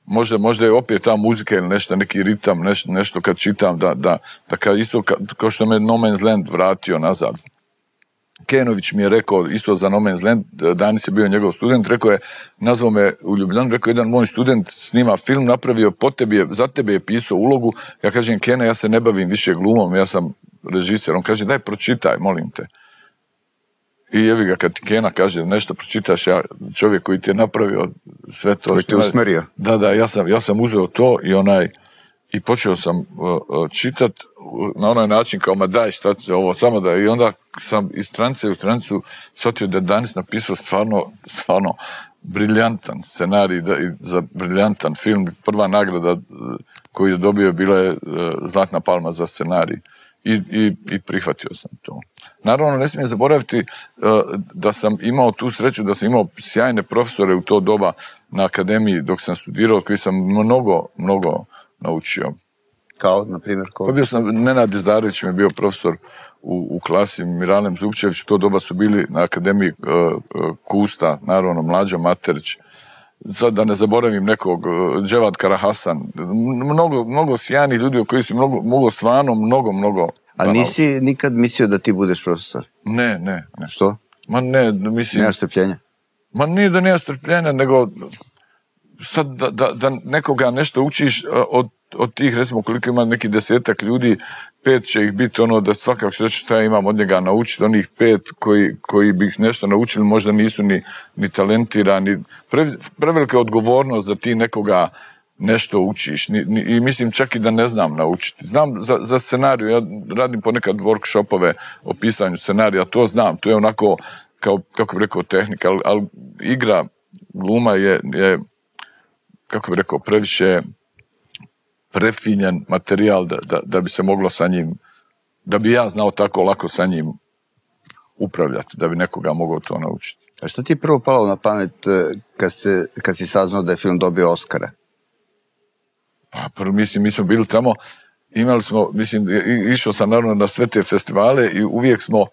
Speaker 2: Možda, možda je opet ta muzika ili nešto, neki ritam, nešto, nešto kad čitam, da, da, da kad isto ka, kao što me No Man's Land vratio nazad. Kenović mi je rekao, isto za No Man's Land, Danis je bio njegov student, rekao je, nazvao me u Ljubljanu, rekao jedan moj student snima film, napravio po tebi, za tebe je pisao ulogu, ja kažem, Kene, ja se ne bavim više glumom, ja sam režiser, on kaže, daj pročitaj, molim te. I jevi ga, kad ti Kena kaže nešto pročitaš, ja, čovjek koji ti je napravio sve to...
Speaker 3: Koji ti je usmerio.
Speaker 2: Da, da, ja sam, ja sam uzeo to i onaj, i počeo sam uh, uh, čitat na onaj način kao, ma daj, šta će ovo, samo da, i onda sam iz stranice u stranicu shvatio da je Danis napisao stvarno, stvarno briljantan scenarij da, i za briljantan film. Prva nagrada uh, koju je dobio bila je uh, Zlatna palma za scenarij. I, i, i prihvatio sam to. Naravno, ne smijem zaboraviti uh, da sam imao tu sreću, da sam imao sjajne profesore u to doba na akademiji dok sam studirao, od koji sam mnogo, mnogo naučio.
Speaker 3: Kao, na primjer, ko?
Speaker 2: Pa bio sam, Nenad Izdarević mi je bio profesor u, u klasi, Miralem Zupčević, u to doba su bili na akademiji uh, uh, Kusta, naravno, Mlađo Materić, sad da ne zaboravim nekog, Dževad Karahasan, mnogo, mnogo sjajnih ljudi koji su mnogo, mnogo stvarno, mnogo, mnogo...
Speaker 3: A nisi nikad mislio da ti budeš profesor?
Speaker 2: Ne, ne, ne.
Speaker 3: Što?
Speaker 2: Ma ne, mislim...
Speaker 3: Nemaš strpljenja?
Speaker 2: Ma nije da nema strpljenja, nego sad da, da, da nekoga nešto učiš od, od tih, recimo koliko ima neki desetak ljudi, pet će ih biti ono da svakako će reći šta ja imam od njega naučiti, onih pet koji, koji bi ih nešto naučili možda nisu ni, ni talentirani. Pre, prevelika odgovornost da ti nekoga nešto učiš ni, ni, i mislim čak i da ne znam naučiti. Znam za, za scenariju, ja radim ponekad workshopove o pisanju scenarija, to znam, to je onako kao, kako bih rekao, tehnika, ali, ali igra, gluma je, je kako bih rekao, previše prefinjen materijal da, da, da bi se moglo sa njim, da bi ja znao tako lako sa njim upravljati, da bi nekoga mogao to naučiti.
Speaker 3: A što ti je prvo palo na pamet kad, se, kad si saznao da je film dobio Oscara?
Speaker 2: Pa prvo, mislim, mi smo bili tamo, imali smo, mislim, išao sam naravno na sve te festivale i uvijek smo,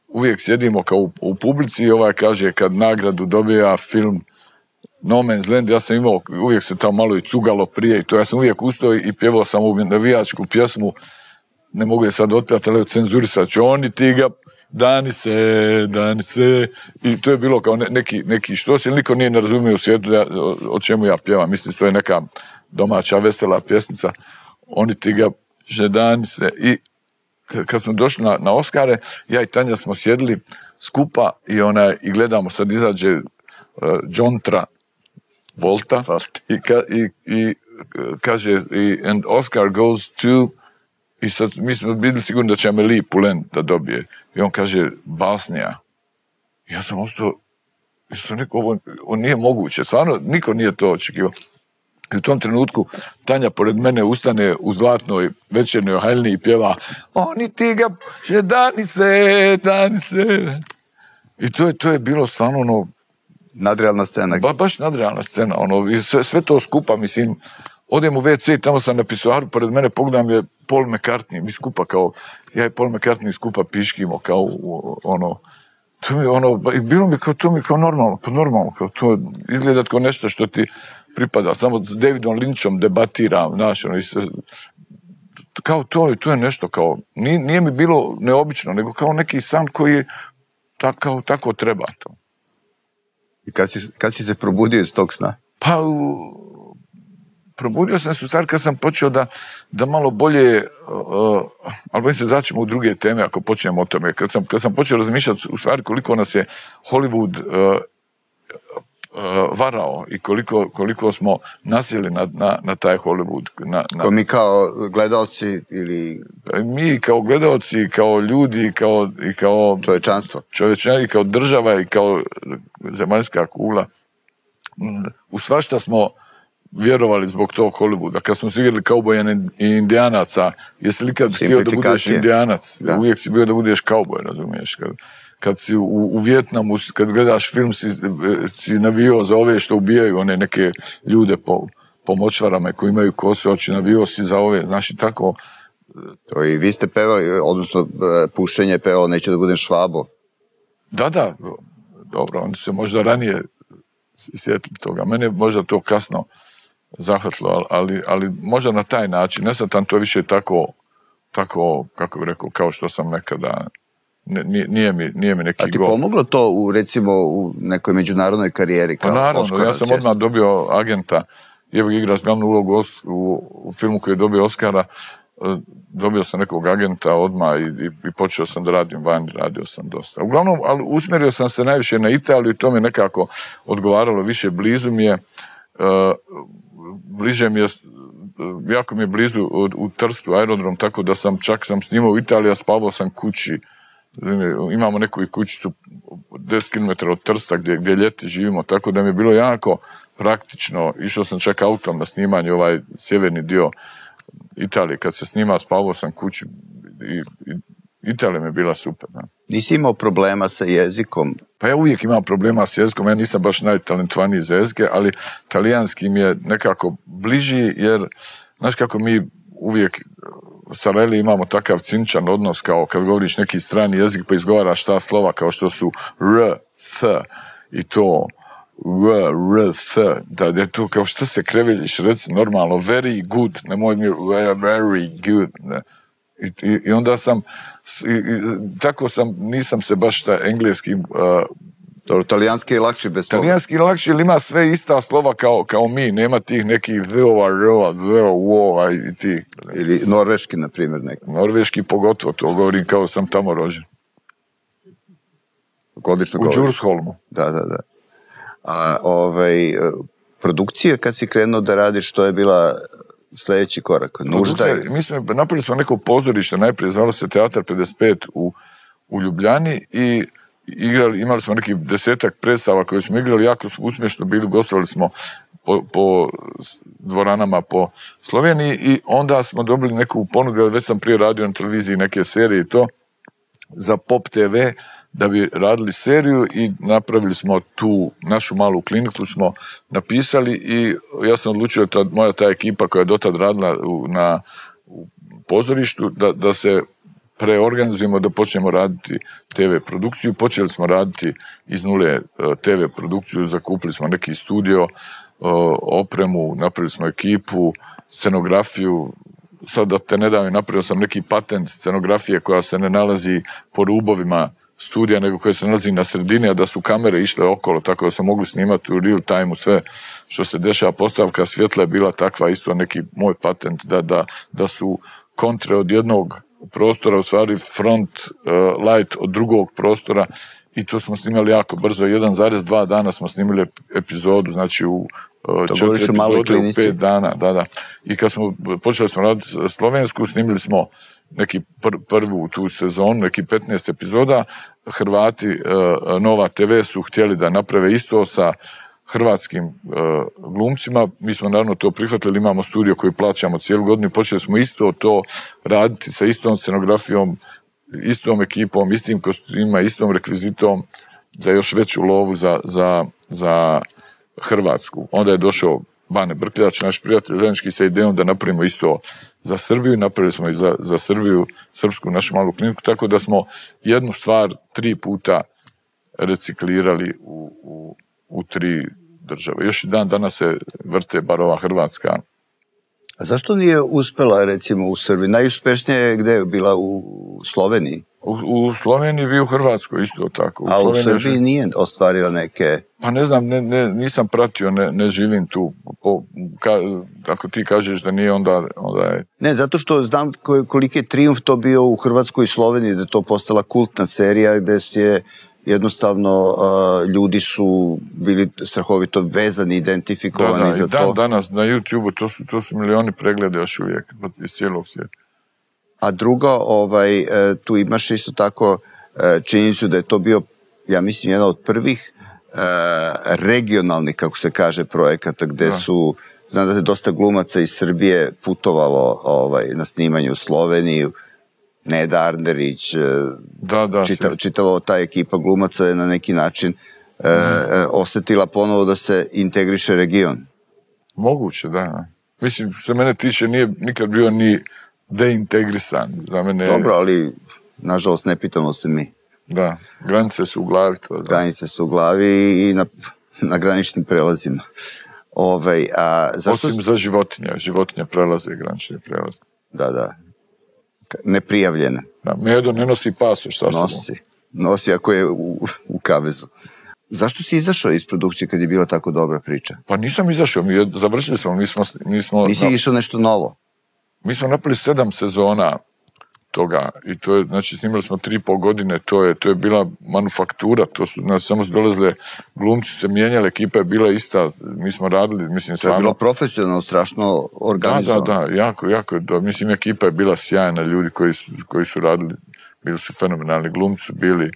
Speaker 2: uvijek sjedimo kao u, u publici i ovaj kaže kad nagradu dobija film No Man's Land, ja sam imao, uvijek se tamo malo i cugalo prije i to, ja sam uvijek ustao i pjevao sam ovu navijačku pjesmu, ne mogu je sad otpjati, ali cenzurisat ću, oni ti ga, dani se, dani se, i to je bilo kao ne, neki, neki štos, ili niko nije ne razumio u svijetu ja, o, o čemu ja pjevam, mislim, to je neka domaća vesela pjesnica, oni ti ga, že dani se, i kad smo došli na, na Oskare, ja i Tanja smo sjedili skupa i, ona, i gledamo, sad izađe uh, John Tra, Volta, i, ka, i, i kaže, i, and Oscar goes to, i sad mi smo bili sigurni da će Amélie Poulain da dobije. I on kaže, Basnija. Ja sam ostao, ja sam rekao, ovo, ovo nije moguće, stvarno, niko nije to očekivao. I u tom trenutku Tanja pored mene ustane u zlatnoj večernoj haljni i pjeva, oni ti ga, že dani se, dani se. I to je, to je bilo stvarno ono,
Speaker 3: nadrealna scena.
Speaker 2: Ba, baš nadrealna scena, ono, i sve, sve to skupa, mislim, odem u ve ce i tamo sam na pisoaru, pored mene pogledam je Paul McCartney, mi skupa kao, ja i Paul McCartney skupa piškimo, kao, ono, to mi, ono, bilo mi kao, to mi kao normalno, pa normalno, kao to izgleda kao nešto što ti pripada, samo s Davidom Lynchom debatiram, znaš, ono, i se, kao to, to je nešto kao, nije, nije mi bilo neobično, nego kao neki san koji tako, tako treba to.
Speaker 3: I kad si, kad si se probudio iz tog sna?
Speaker 2: Pa, probudio sam se u stvari kad sam počeo da, da malo bolje, uh, ali bojim se začemo u druge teme ako počnemo o tome. Kad sam, kad sam počeo razmišljati u stvari koliko nas je Hollywood uh, uh, varao i koliko, koliko smo nasjeli na, na, na taj Hollywood. Na, na...
Speaker 3: Ko mi kao gledaoci ili...
Speaker 2: Mi kao gledaoci, kao ljudi, kao, i kao...
Speaker 3: Čovječanstvo.
Speaker 2: Čovječanstvo i kao država i kao zemaljska kugla. U svašta smo vjerovali zbog tog Hollywooda. Kad smo se igrali kauboja i indijanaca, jesi li kad htio da budeš indijanac? Da. Uvijek si bio da budeš kauboj, razumiješ? Kad, kad si u, u Vijetnamu, kad gledaš film, si, si navio za ove što ubijaju one neke ljude po, po močvarama koji imaju kose oči, navio si za ove, znaš i tako.
Speaker 3: To i vi ste pevali, odnosno pušenje je pevalo Neću da budem Švabo.
Speaker 2: Da, da, dobro, onda se možda ranije sjetili toga. Mene je možda to kasno zahvatilo, ali, ali možda na taj način. Ne sam tam to više tako, tako, kako bih rekao, kao što sam nekada, nije, nije, mi, nije mi neki
Speaker 3: gol. A ti
Speaker 2: gol.
Speaker 3: pomoglo to u, recimo, u nekoj međunarodnoj karijeri? Kao
Speaker 2: pa naravno,
Speaker 3: Oscara,
Speaker 2: ja sam
Speaker 3: često.
Speaker 2: odmah dobio agenta, je igra s glavnu ulogu u, u filmu koji je dobio Oscara, dobio sam nekog agenta odmah i, i, i počeo sam da radim vani, radio sam dosta. Uglavnom, ali usmjerio sam se najviše na Italiju i to mi je nekako odgovaralo više. Blizu mi je, uh, bliže mi je, jako mi je blizu u, u Trstu aerodrom, tako da sam čak sam snimao u Italiji, a spavao sam kući. Imamo neku kućicu deset kilometara od Trsta gdje, gdje ljeti živimo, tako da mi je bilo jako praktično. Išao sam čak autom na snimanje ovaj sjeverni dio Italije, kad se snima, spavao sam kući i, i Italija mi je bila super. Ne?
Speaker 3: Nisi imao problema sa jezikom?
Speaker 2: Pa ja uvijek imam problema s jezikom, ja nisam baš najtalentovaniji za jezike, ali talijanski mi je nekako bliži, jer, znaš kako mi uvijek sa Leli imamo takav cinčan odnos, kao kad govoriš neki strani jezik, pa izgovaraš ta slova kao što su r, th i to, r, r, th, da je to kao što se kreveljiš, reci normalno, very good, nemoj mi very good, ne. I, i, i onda sam, i, i, tako sam, nisam se baš ta engleski... Uh,
Speaker 3: Dobro, talijanski je lakši bez toga.
Speaker 2: Talijanski je lakši, ili ima sve ista slova kao, kao mi, nema tih nekih v-ova, r-ova, v-ova i tih.
Speaker 3: Ili norveški, na primjer, neki.
Speaker 2: Norveški pogotovo, to govorim kao sam tamo rođen.
Speaker 3: Odlično
Speaker 2: U Djursholmu.
Speaker 3: Da, da, da. A ovaj, produkcija, kad si krenuo da radiš, što je bila sljedeći korak? Nužda je...
Speaker 2: Mi smo, napravili smo neko pozorište, najprije zvalo se Teatar pedeset pet u, u Ljubljani i igrali, imali smo neki desetak predstava koje smo igrali, jako uspješno bili, gostovali smo po, po dvoranama po Sloveniji i onda smo dobili neku ponudu, već sam prije radio na televiziji neke serije i to, za Pop te ve, da bi radili seriju i napravili smo tu našu malu kliniku, smo napisali i ja sam odlučio, ta, moja ta ekipa koja je dotad radila u, na u pozorištu, da, da se preorganizujemo, da počnemo raditi te ve produkciju. Počeli smo raditi iz nule te ve produkciju, zakupili smo neki studio, opremu, napravili smo ekipu, scenografiju. Sad da te ne davim, napravio sam neki patent scenografije koja se ne nalazi po rubovima studija, nego koja se nalazi na sredini, a da su kamere išle okolo, tako da se mogli snimati u real time-u sve što se dešava. Postavka svjetla je bila takva, isto neki moj patent, da, da, da su kontre od jednog prostora, u stvari front uh, light od drugog prostora, i to smo snimali jako brzo. jedan zarez dva dana smo snimili epizodu, znači u uh, četiri epizode u pet dana. Da, da. I kad smo počeli smo raditi slovensku, snimili smo neki pr prvu tu sezonu, neki petnaest epizoda. Hrvati, uh, Nova te ve su htjeli da naprave isto sa hrvatskim uh, glumcima. Mi smo naravno to prihvatili, imamo studio koji plaćamo cijelu godinu i počeli smo isto to raditi sa istom scenografijom, istom ekipom, istim kostumima, istom rekvizitom za još veću lovu za, za, za Hrvatsku. Onda je došao Bane Brkljač, naš prijatelj, zajednički sa idejom da napravimo isto za Srbiju, napravili smo i za, za Srbiju, srpsku našu malu kliniku, tako da smo jednu stvar tri puta reciklirali u, u, u tri države. Još i dan danas se vrte bar ova Hrvatska.
Speaker 3: A zašto nije uspela, recimo, u Srbiji? Najuspješnije je gde je bila u Sloveniji?
Speaker 2: U, u Sloveniji bi u Hrvatskoj isto tako. U
Speaker 3: A
Speaker 2: Sloveniji
Speaker 3: u Srbiji još... nije ostvarila neke...
Speaker 2: Pa ne znam, ne, ne, nisam pratio, ne, ne živim tu. Po, ka, ako ti kažeš da nije, onda, onda je...
Speaker 3: Ne, zato što znam koliki je trijumf to bio u Hrvatskoj i Sloveniji, da je to postala kultna serija, gde je jednostavno uh, ljudi su bili strahovito vezani, identifikovani
Speaker 2: da, da,
Speaker 3: za
Speaker 2: i dan,
Speaker 3: to.
Speaker 2: danas na YouTube to su, to su milioni pregleda još uvijek iz cijelog svijeta.
Speaker 3: A drugo, ovaj, tu imaš isto tako činjenicu da je to bio, ja mislim, jedan od prvih regionalnih, kako se kaže, projekata gde da. su, znam da je dosta glumaca iz Srbije putovalo ovaj, na snimanju u Sloveniju, Neda Arnerić,
Speaker 2: da, da,
Speaker 3: čitav, čitava ta ekipa glumaca je na neki način mm. e, osetila ponovo da se integriše region.
Speaker 2: Moguće, da. Mislim, što mene tiče, nije nikad bio ni deintegrisan. Za mene...
Speaker 3: Dobro, ali nažalost ne pitamo se mi.
Speaker 2: Da, granice su u glavi. To,
Speaker 3: granice su u glavi i na, na graničnim prelazima. Ovaj, a zašto...
Speaker 2: Osim za životinje. Životinje prelaze granične prelaze.
Speaker 3: Da, da. Neprijavljene.
Speaker 2: Da, Medo ne nosi pasoš. Sa
Speaker 3: nosi. Nosi ako je u, u kavezu. Zašto si izašao iz produkcije kad je bila tako dobra priča?
Speaker 2: Pa nisam izašao, mi završili smo. Mi smo, mi smo
Speaker 3: Nisi na... išao nešto novo?
Speaker 2: Mi smo napravili sedam sezona toga i to je, znači snimali smo tri i pol godine, to je, to je bila manufaktura, to su, znači, samo su dolazile, glumci se mijenjali, ekipa je bila ista, mi smo radili, mislim,
Speaker 3: to
Speaker 2: stvarno...
Speaker 3: je bilo profesionalno, strašno organizovano.
Speaker 2: Da, da, da, jako, jako, da, mislim, ekipa je bila sjajna, ljudi koji su, koji su radili, bili su fenomenalni, glumci su bili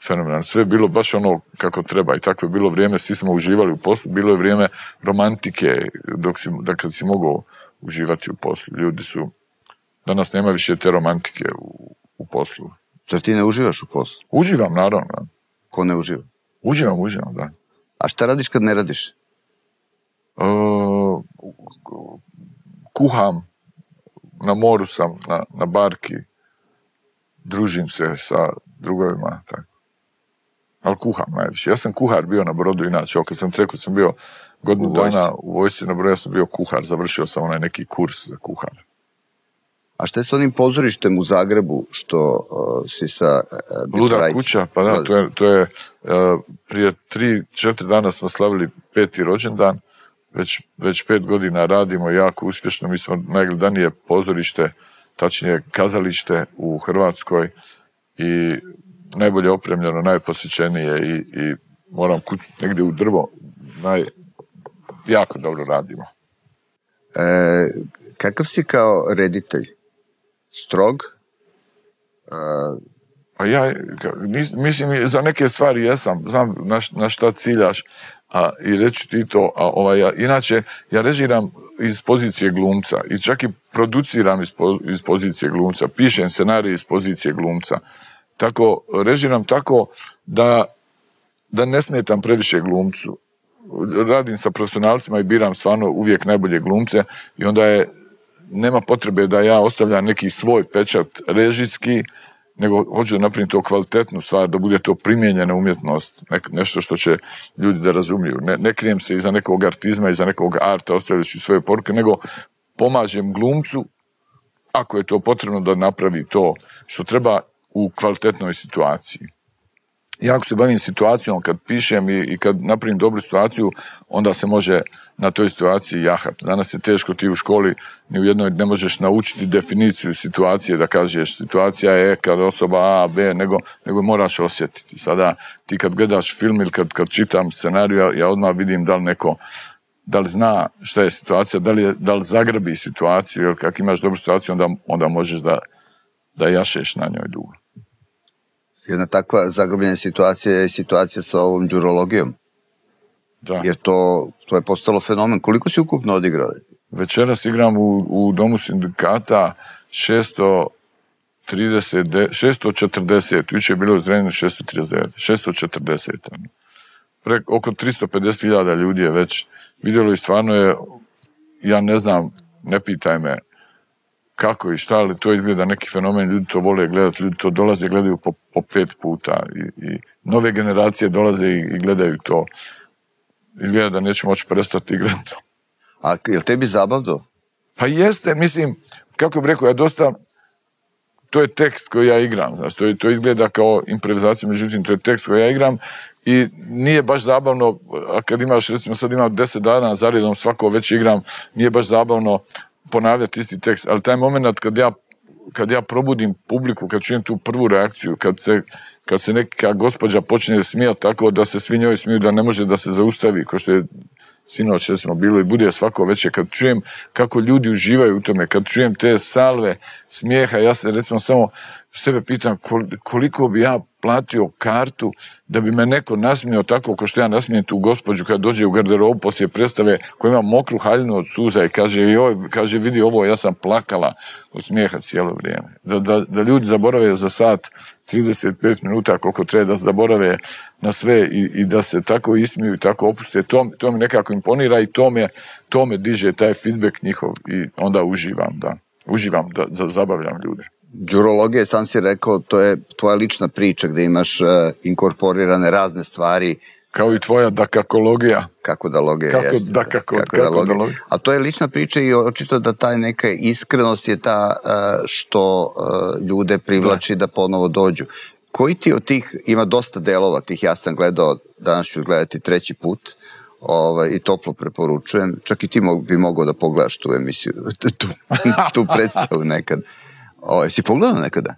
Speaker 2: fenomenalni, sve je bilo baš ono kako treba i takvo je bilo vrijeme, svi smo uživali u poslu, bilo je vrijeme romantike, dok si, da kad si mogao uživati u poslu, ljudi su... Danas nema više te romantike u, u poslu.
Speaker 3: Zar ti ne uživaš u poslu?
Speaker 2: Uživam, naravno.
Speaker 3: Ko ne uživa?
Speaker 2: Uživam, uživam, da.
Speaker 3: A šta radiš kad ne radiš?
Speaker 2: Uh, kuham, na moru sam, na, na barki, družim se sa drugovima, tako. Ali kuham najviše. Ja sam kuhar bio na brodu, inače, kad sam rekao, sam bio godinu dana u vojsci na brodu, ja sam bio kuhar, završio sam onaj neki kurs za kuhar.
Speaker 3: A šta je s onim pozorištem u Zagrebu što uh, si sa... Uh,
Speaker 2: Luda kuća, pa da, to je, to je uh, prije tri, četiri dana smo slavili peti rođendan, već, već pet godina radimo jako uspješno, mi smo najgledanije pozorište, tačnije kazalište u Hrvatskoj i najbolje opremljeno, najposjećenije i, i moram kućiti negdje u drvo, naj, jako dobro radimo.
Speaker 3: E, kakav si kao reditelj? Strog? Uh...
Speaker 2: A ja, mislim, za neke stvari jesam, znam na, na šta ciljaš, a, i reći ti to, a ovaj, ja, inače, ja režiram iz pozicije glumca i čak i produciram iz, po, iz pozicije glumca, pišem scenarij iz pozicije glumca. Tako, režiram tako da, da ne smetam previše glumcu. Radim sa profesionalcima i biram stvarno uvijek najbolje glumce i onda je nema potrebe da ja ostavljam neki svoj pečat režijski, nego hoću da napravim to kvalitetnu stvar, da bude to primijenjena umjetnost, ne, nešto što će ljudi da razumiju. Ne, ne krijem se iza nekog artizma, iza nekog arta, ostavljajući svoje poruke, nego pomažem glumcu, ako je to potrebno da napravi to što treba u kvalitetnoj situaciji. Ja ako se bavim situacijom, kad pišem i, i kad napravim dobru situaciju, onda se može na toj situaciji jahati. Danas je teško, ti u školi ni u jednoj ne možeš naučiti definiciju situacije, da kažeš situacija je kad osoba A, B, nego, nego moraš osjetiti. Sada ti kad gledaš film ili kad, kad čitam scenariju, ja, ja odmah vidim da li neko, da li zna šta je situacija, da li, je, da li zagrabi situaciju, jer kako imaš dobru situaciju, onda, onda možeš da, da jašeš na njoj dugo.
Speaker 3: Jedna takva zagrobljena situacija je situacija sa ovom đurologijom.
Speaker 2: Da.
Speaker 3: Jer to, to je postalo fenomen. Koliko si ukupno odigrao?
Speaker 2: Večeras igram u, u Domu sindikata šesto trideset, šesto četrdeset, juče je bilo u Zrenjaninu šesto trideset devet, šesto četrdeset. Prek, oko tristo pedeset hiljada ljudi je već vidjelo i stvarno je, ja ne znam, ne pitaj me kako i šta, ali to izgleda neki fenomen, ljudi to vole gledati, ljudi to dolaze i gledaju po, po pet puta i, i nove generacije dolaze i, i gledaju to. Izgleda da neće moći prestati igrati.
Speaker 3: A je li tebi zabavno?
Speaker 2: Pa jeste, mislim, kako bih rekao, ja dosta, to je tekst koji ja igram, znači, to, je, to izgleda kao improvizacija, međutim, to je tekst koji ja igram i nije baš zabavno, a kad imaš, recimo sad imam deset dana za redom, svako već igram, nije baš zabavno ponavljati isti tekst, ali taj moment kad ja kad ja probudim publiku, kad čujem tu prvu reakciju, kad se, kad se neka gospođa počne smijati tako da se svi njoj smiju, da ne može da se zaustavi, kao što je sinoć recimo bilo i bude svako večer, kad čujem kako ljudi uživaju u tome, kad čujem te salve smijeha, ja se recimo samo sebe pitam koliko bi ja platio kartu da bi me neko nasmijao tako kao što ja nasmijem tu gospođu kad dođe u garderobu poslije predstave koja ima mokru haljinu od suza i kaže, joj, kaže vidi ovo, ja sam plakala od smijeha cijelo vrijeme. Da, da, da ljudi zaborave za sat trideset pet minuta koliko treba da zaborave na sve i, i da se tako ismiju i tako opuste, to, to mi nekako imponira i to me, to me diže taj feedback njihov i onda uživam, da, uživam da, da zabavljam ljude.
Speaker 3: Đurologija, sam si rekao, to je tvoja lična priča gdje imaš uh, inkorporirane razne stvari.
Speaker 2: Kao i tvoja dakakologija.
Speaker 3: Kako da logija
Speaker 2: kako
Speaker 3: jeste.
Speaker 2: Da, kako,
Speaker 3: kako
Speaker 2: kako
Speaker 3: da logija.
Speaker 2: Da logija.
Speaker 3: A to je lična priča i očito da taj neka iskrenost je ta uh, što uh, ljude privlači da. da ponovo dođu. Koji ti od tih, ima dosta delova tih, ja sam gledao, danas ću gledati treći put, ovaj, i toplo preporučujem, čak i ti mog, bi mogao da pogledaš tu emisiju, tu, tu predstavu nekad. O, si pogledao nekada?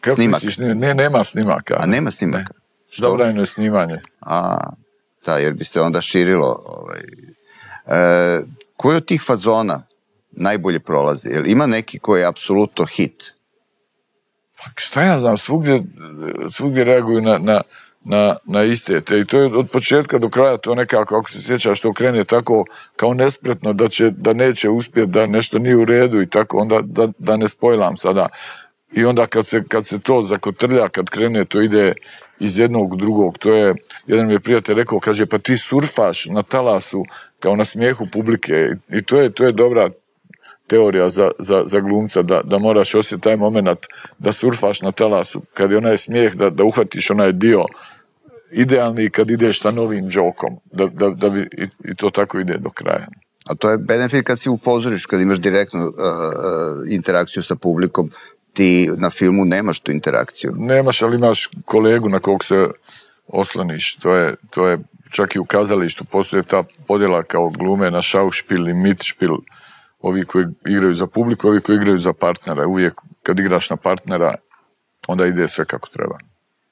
Speaker 2: Kako
Speaker 3: snimak?
Speaker 2: Misliš, ne, nema snimaka.
Speaker 3: A nema snimaka?
Speaker 2: Zabranjeno je snimanje.
Speaker 3: A, da, jer bi se onda širilo. Ovaj. E, koji od tih fazona najbolje prolazi? Jel ima neki koji je apsolutno hit?
Speaker 2: Pa šta ja znam, svugdje, svugdje reaguju na, na, na, na iste. Te, i to je od početka do kraja to nekako, ako se sjećaš, što krene tako kao nespretno da, će, da neće uspjeti, da nešto nije u redu i tako, onda da, da ne spojlam sada. I onda kad se, kad se to zakotrlja, kad krene, to ide iz jednog u drugog. To je, jedan mi je prijatelj rekao, kaže, pa ti surfaš na talasu kao na smijehu publike. I to je, to je dobra teorija za, za, za glumca, da, da moraš osjetiti taj moment da surfaš na talasu, kad je onaj smijeh, da, da uhvatiš onaj dio idealni kad ideš sa novim džokom, da, da, da bi, i, i to tako ide do kraja.
Speaker 3: A to je benefit kad si upozoriš, kad imaš direktnu uh, uh, interakciju sa publikom, ti na filmu nemaš tu interakciju.
Speaker 2: Nemaš, ali imaš kolegu na kog se osloniš. To je, to je čak i u kazalištu postoje ta podjela kao glume na šaušpil i mitšpil. Ovi koji igraju za publiku, ovi koji igraju za partnera. Uvijek kad igraš na partnera, onda ide sve kako treba.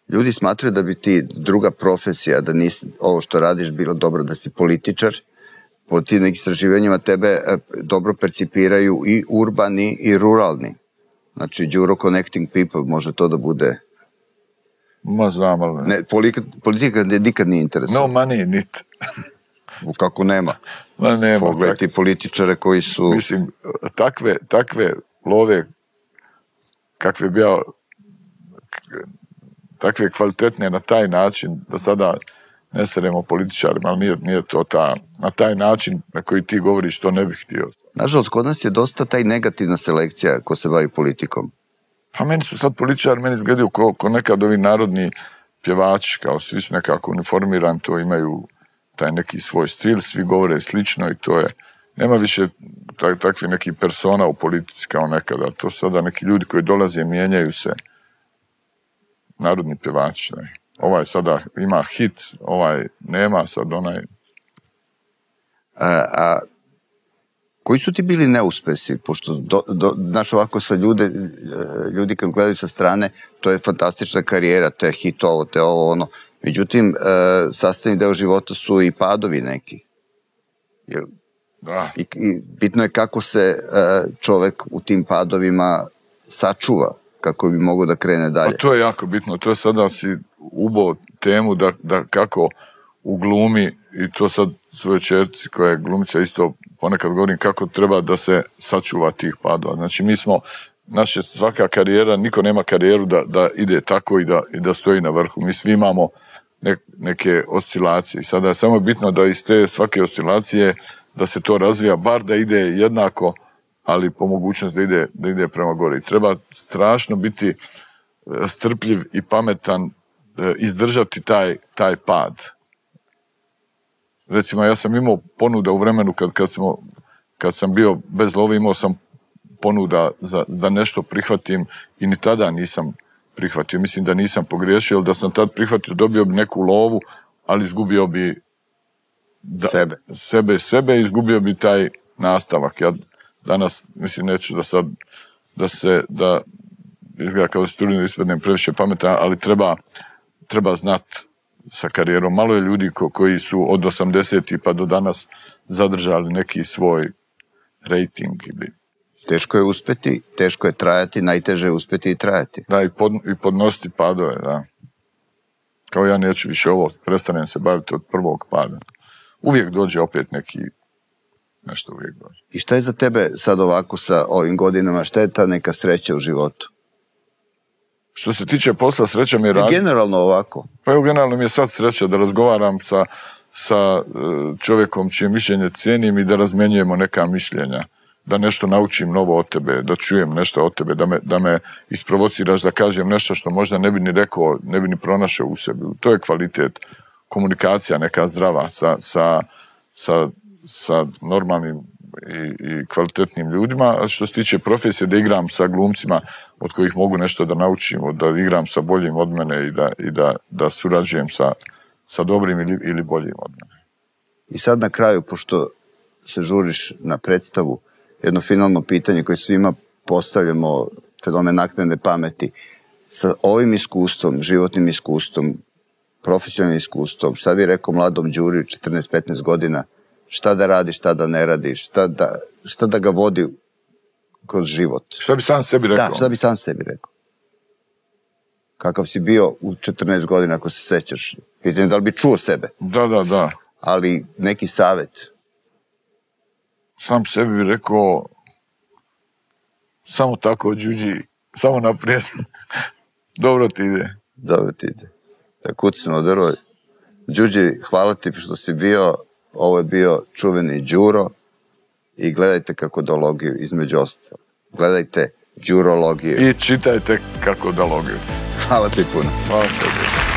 Speaker 3: Ljudi smatraju da bi ti druga profesija, da nisi ovo što radiš bilo dobro, da si političar. Po tim istraživanjima tebe dobro percipiraju i urbani i ruralni. Znači, Đuro Connecting People, može to da bude...
Speaker 2: Ma znam, ali...
Speaker 3: Ne, politika, politika nikad nije interesantna.
Speaker 2: No money, nit.
Speaker 3: Kako nema?
Speaker 2: Ma nema.
Speaker 3: Pogledaj ti političare koji su...
Speaker 2: Mislim, takve, takve love, kakve bi ja... takve kvalitetne na taj način, da sada ne seremo političarima, ali nije, nije to ta, na taj način na koji ti govoriš, to ne bih htio.
Speaker 3: Nažalost, kod nas je dosta taj negativna selekcija ko se bavi politikom.
Speaker 2: Pa meni su sad političari, meni izgledaju ko, ko nekad ovi narodni pjevači, kao svi su nekako uniformirani, to imaju taj neki svoj stil, svi govore slično i to je, nema više tak, takvi neki persona u politici kao nekada, to sada neki ljudi koji dolaze, mijenjaju se, narodni pjevači, ne. Ovaj sada ima hit, ovaj nema, sad onaj...
Speaker 3: A, a koji su ti bili neuspesi? Pošto, do, do, znaš, ovako sa ljude, ljudi kad gledaju sa strane, to je fantastična karijera, te hit ovo, te ovo, ono. Međutim, sastavni deo života su i padovi neki. Jer,
Speaker 2: da.
Speaker 3: I, i bitno je kako se čovek u tim padovima sačuva, kako bi mogao da krene dalje.
Speaker 2: Pa to je jako bitno, to je sada si ubao temu da, da kako u glumi, i to sad svoje čerci koja je glumica isto ponekad govorim kako treba da se sačuva tih padova. Znači mi smo, naša svaka karijera, niko nema karijeru da, da ide tako i da, i da stoji na vrhu. Mi svi imamo ne, neke oscilacije i sada je samo bitno da iz te svake oscilacije da se to razvija, bar da ide jednako, ali po mogućnosti da ide, da ide prema gore. I treba strašno biti strpljiv i pametan, izdržati taj, taj pad. Recimo, ja sam imao ponuda u vremenu kad, kad, smo, kad sam bio bez love, imao sam ponuda za, da nešto prihvatim i ni tada nisam prihvatio. Mislim da nisam pogriješio, jer da sam tad prihvatio, dobio bi neku lovu, ali izgubio bi da,
Speaker 3: sebe.
Speaker 2: sebe, sebe, izgubio bi taj nastavak. Ja danas, mislim, neću da sad da se, da izgleda kao da se trudim da ispadnem previše pametan, ali treba, treba znat sa karijerom. Malo je ljudi ko, koji su od osamdesetih pa do danas zadržali neki svoj rating ili...
Speaker 3: Teško je uspeti, teško je trajati, najteže je uspeti i trajati.
Speaker 2: Da, i, pod, i podnositi padove, da. Kao ja neću više ovo, prestanem se baviti od prvog pada. Uvijek dođe opet neki, nešto uvijek dođe.
Speaker 3: I šta je za tebe sad ovako sa ovim godinama, šta je ta neka sreća u životu?
Speaker 2: Što se tiče posla, sreća mi je raditi.
Speaker 3: Generalno ovako?
Speaker 2: Pa evo, generalno mi je sad sreća da razgovaram sa, sa čovjekom čije mišljenje cijenim i da razmenjujemo neka mišljenja. Da nešto naučim novo od tebe, da čujem nešto od tebe, da me, da me isprovociraš, da kažem nešto što možda ne bi ni rekao, ne bi ni pronašao u sebi. To je kvalitet, komunikacija neka zdrava sa, sa, sa, sa normalnim i, i kvalitetnim ljudima. A što se tiče profesije, da igram sa glumcima od kojih mogu nešto da naučim, da igram sa boljim od mene i da, i da, da surađujem sa, sa dobrim ili, ili boljim od mene.
Speaker 3: I sad na kraju, pošto se žuriš na predstavu, jedno finalno pitanje koje svima postavljamo, fenomen naknadne pameti, sa ovim iskustvom, životnim iskustvom, profesionalnim iskustvom, šta bi rekao mladom Đuri, četrnaest petnaest godina, šta da radi, šta da ne radi, šta da, šta da ga vodi kroz život?
Speaker 2: Šta bi sam sebi rekao?
Speaker 3: Da, šta bi sam sebi rekao? Kakav si bio u četrnaest godina, ako se sećaš? Pitanje da li bi čuo sebe?
Speaker 2: Da, da, da.
Speaker 3: Ali neki savjet?
Speaker 2: Sam sebi bi rekao samo tako, Đuđi, samo naprijed. Dobro ti ide.
Speaker 3: Dobro ti ide. Da kucimo drvo. Đuđi, hvala ti što si bio. Ovo je bio čuveni Đuro i gledajte kakodologiju između ostalo. Gledajte Đurologiju.
Speaker 2: I čitajte kakodologiju.
Speaker 3: Hvala ti puno.
Speaker 2: Hvala tebi.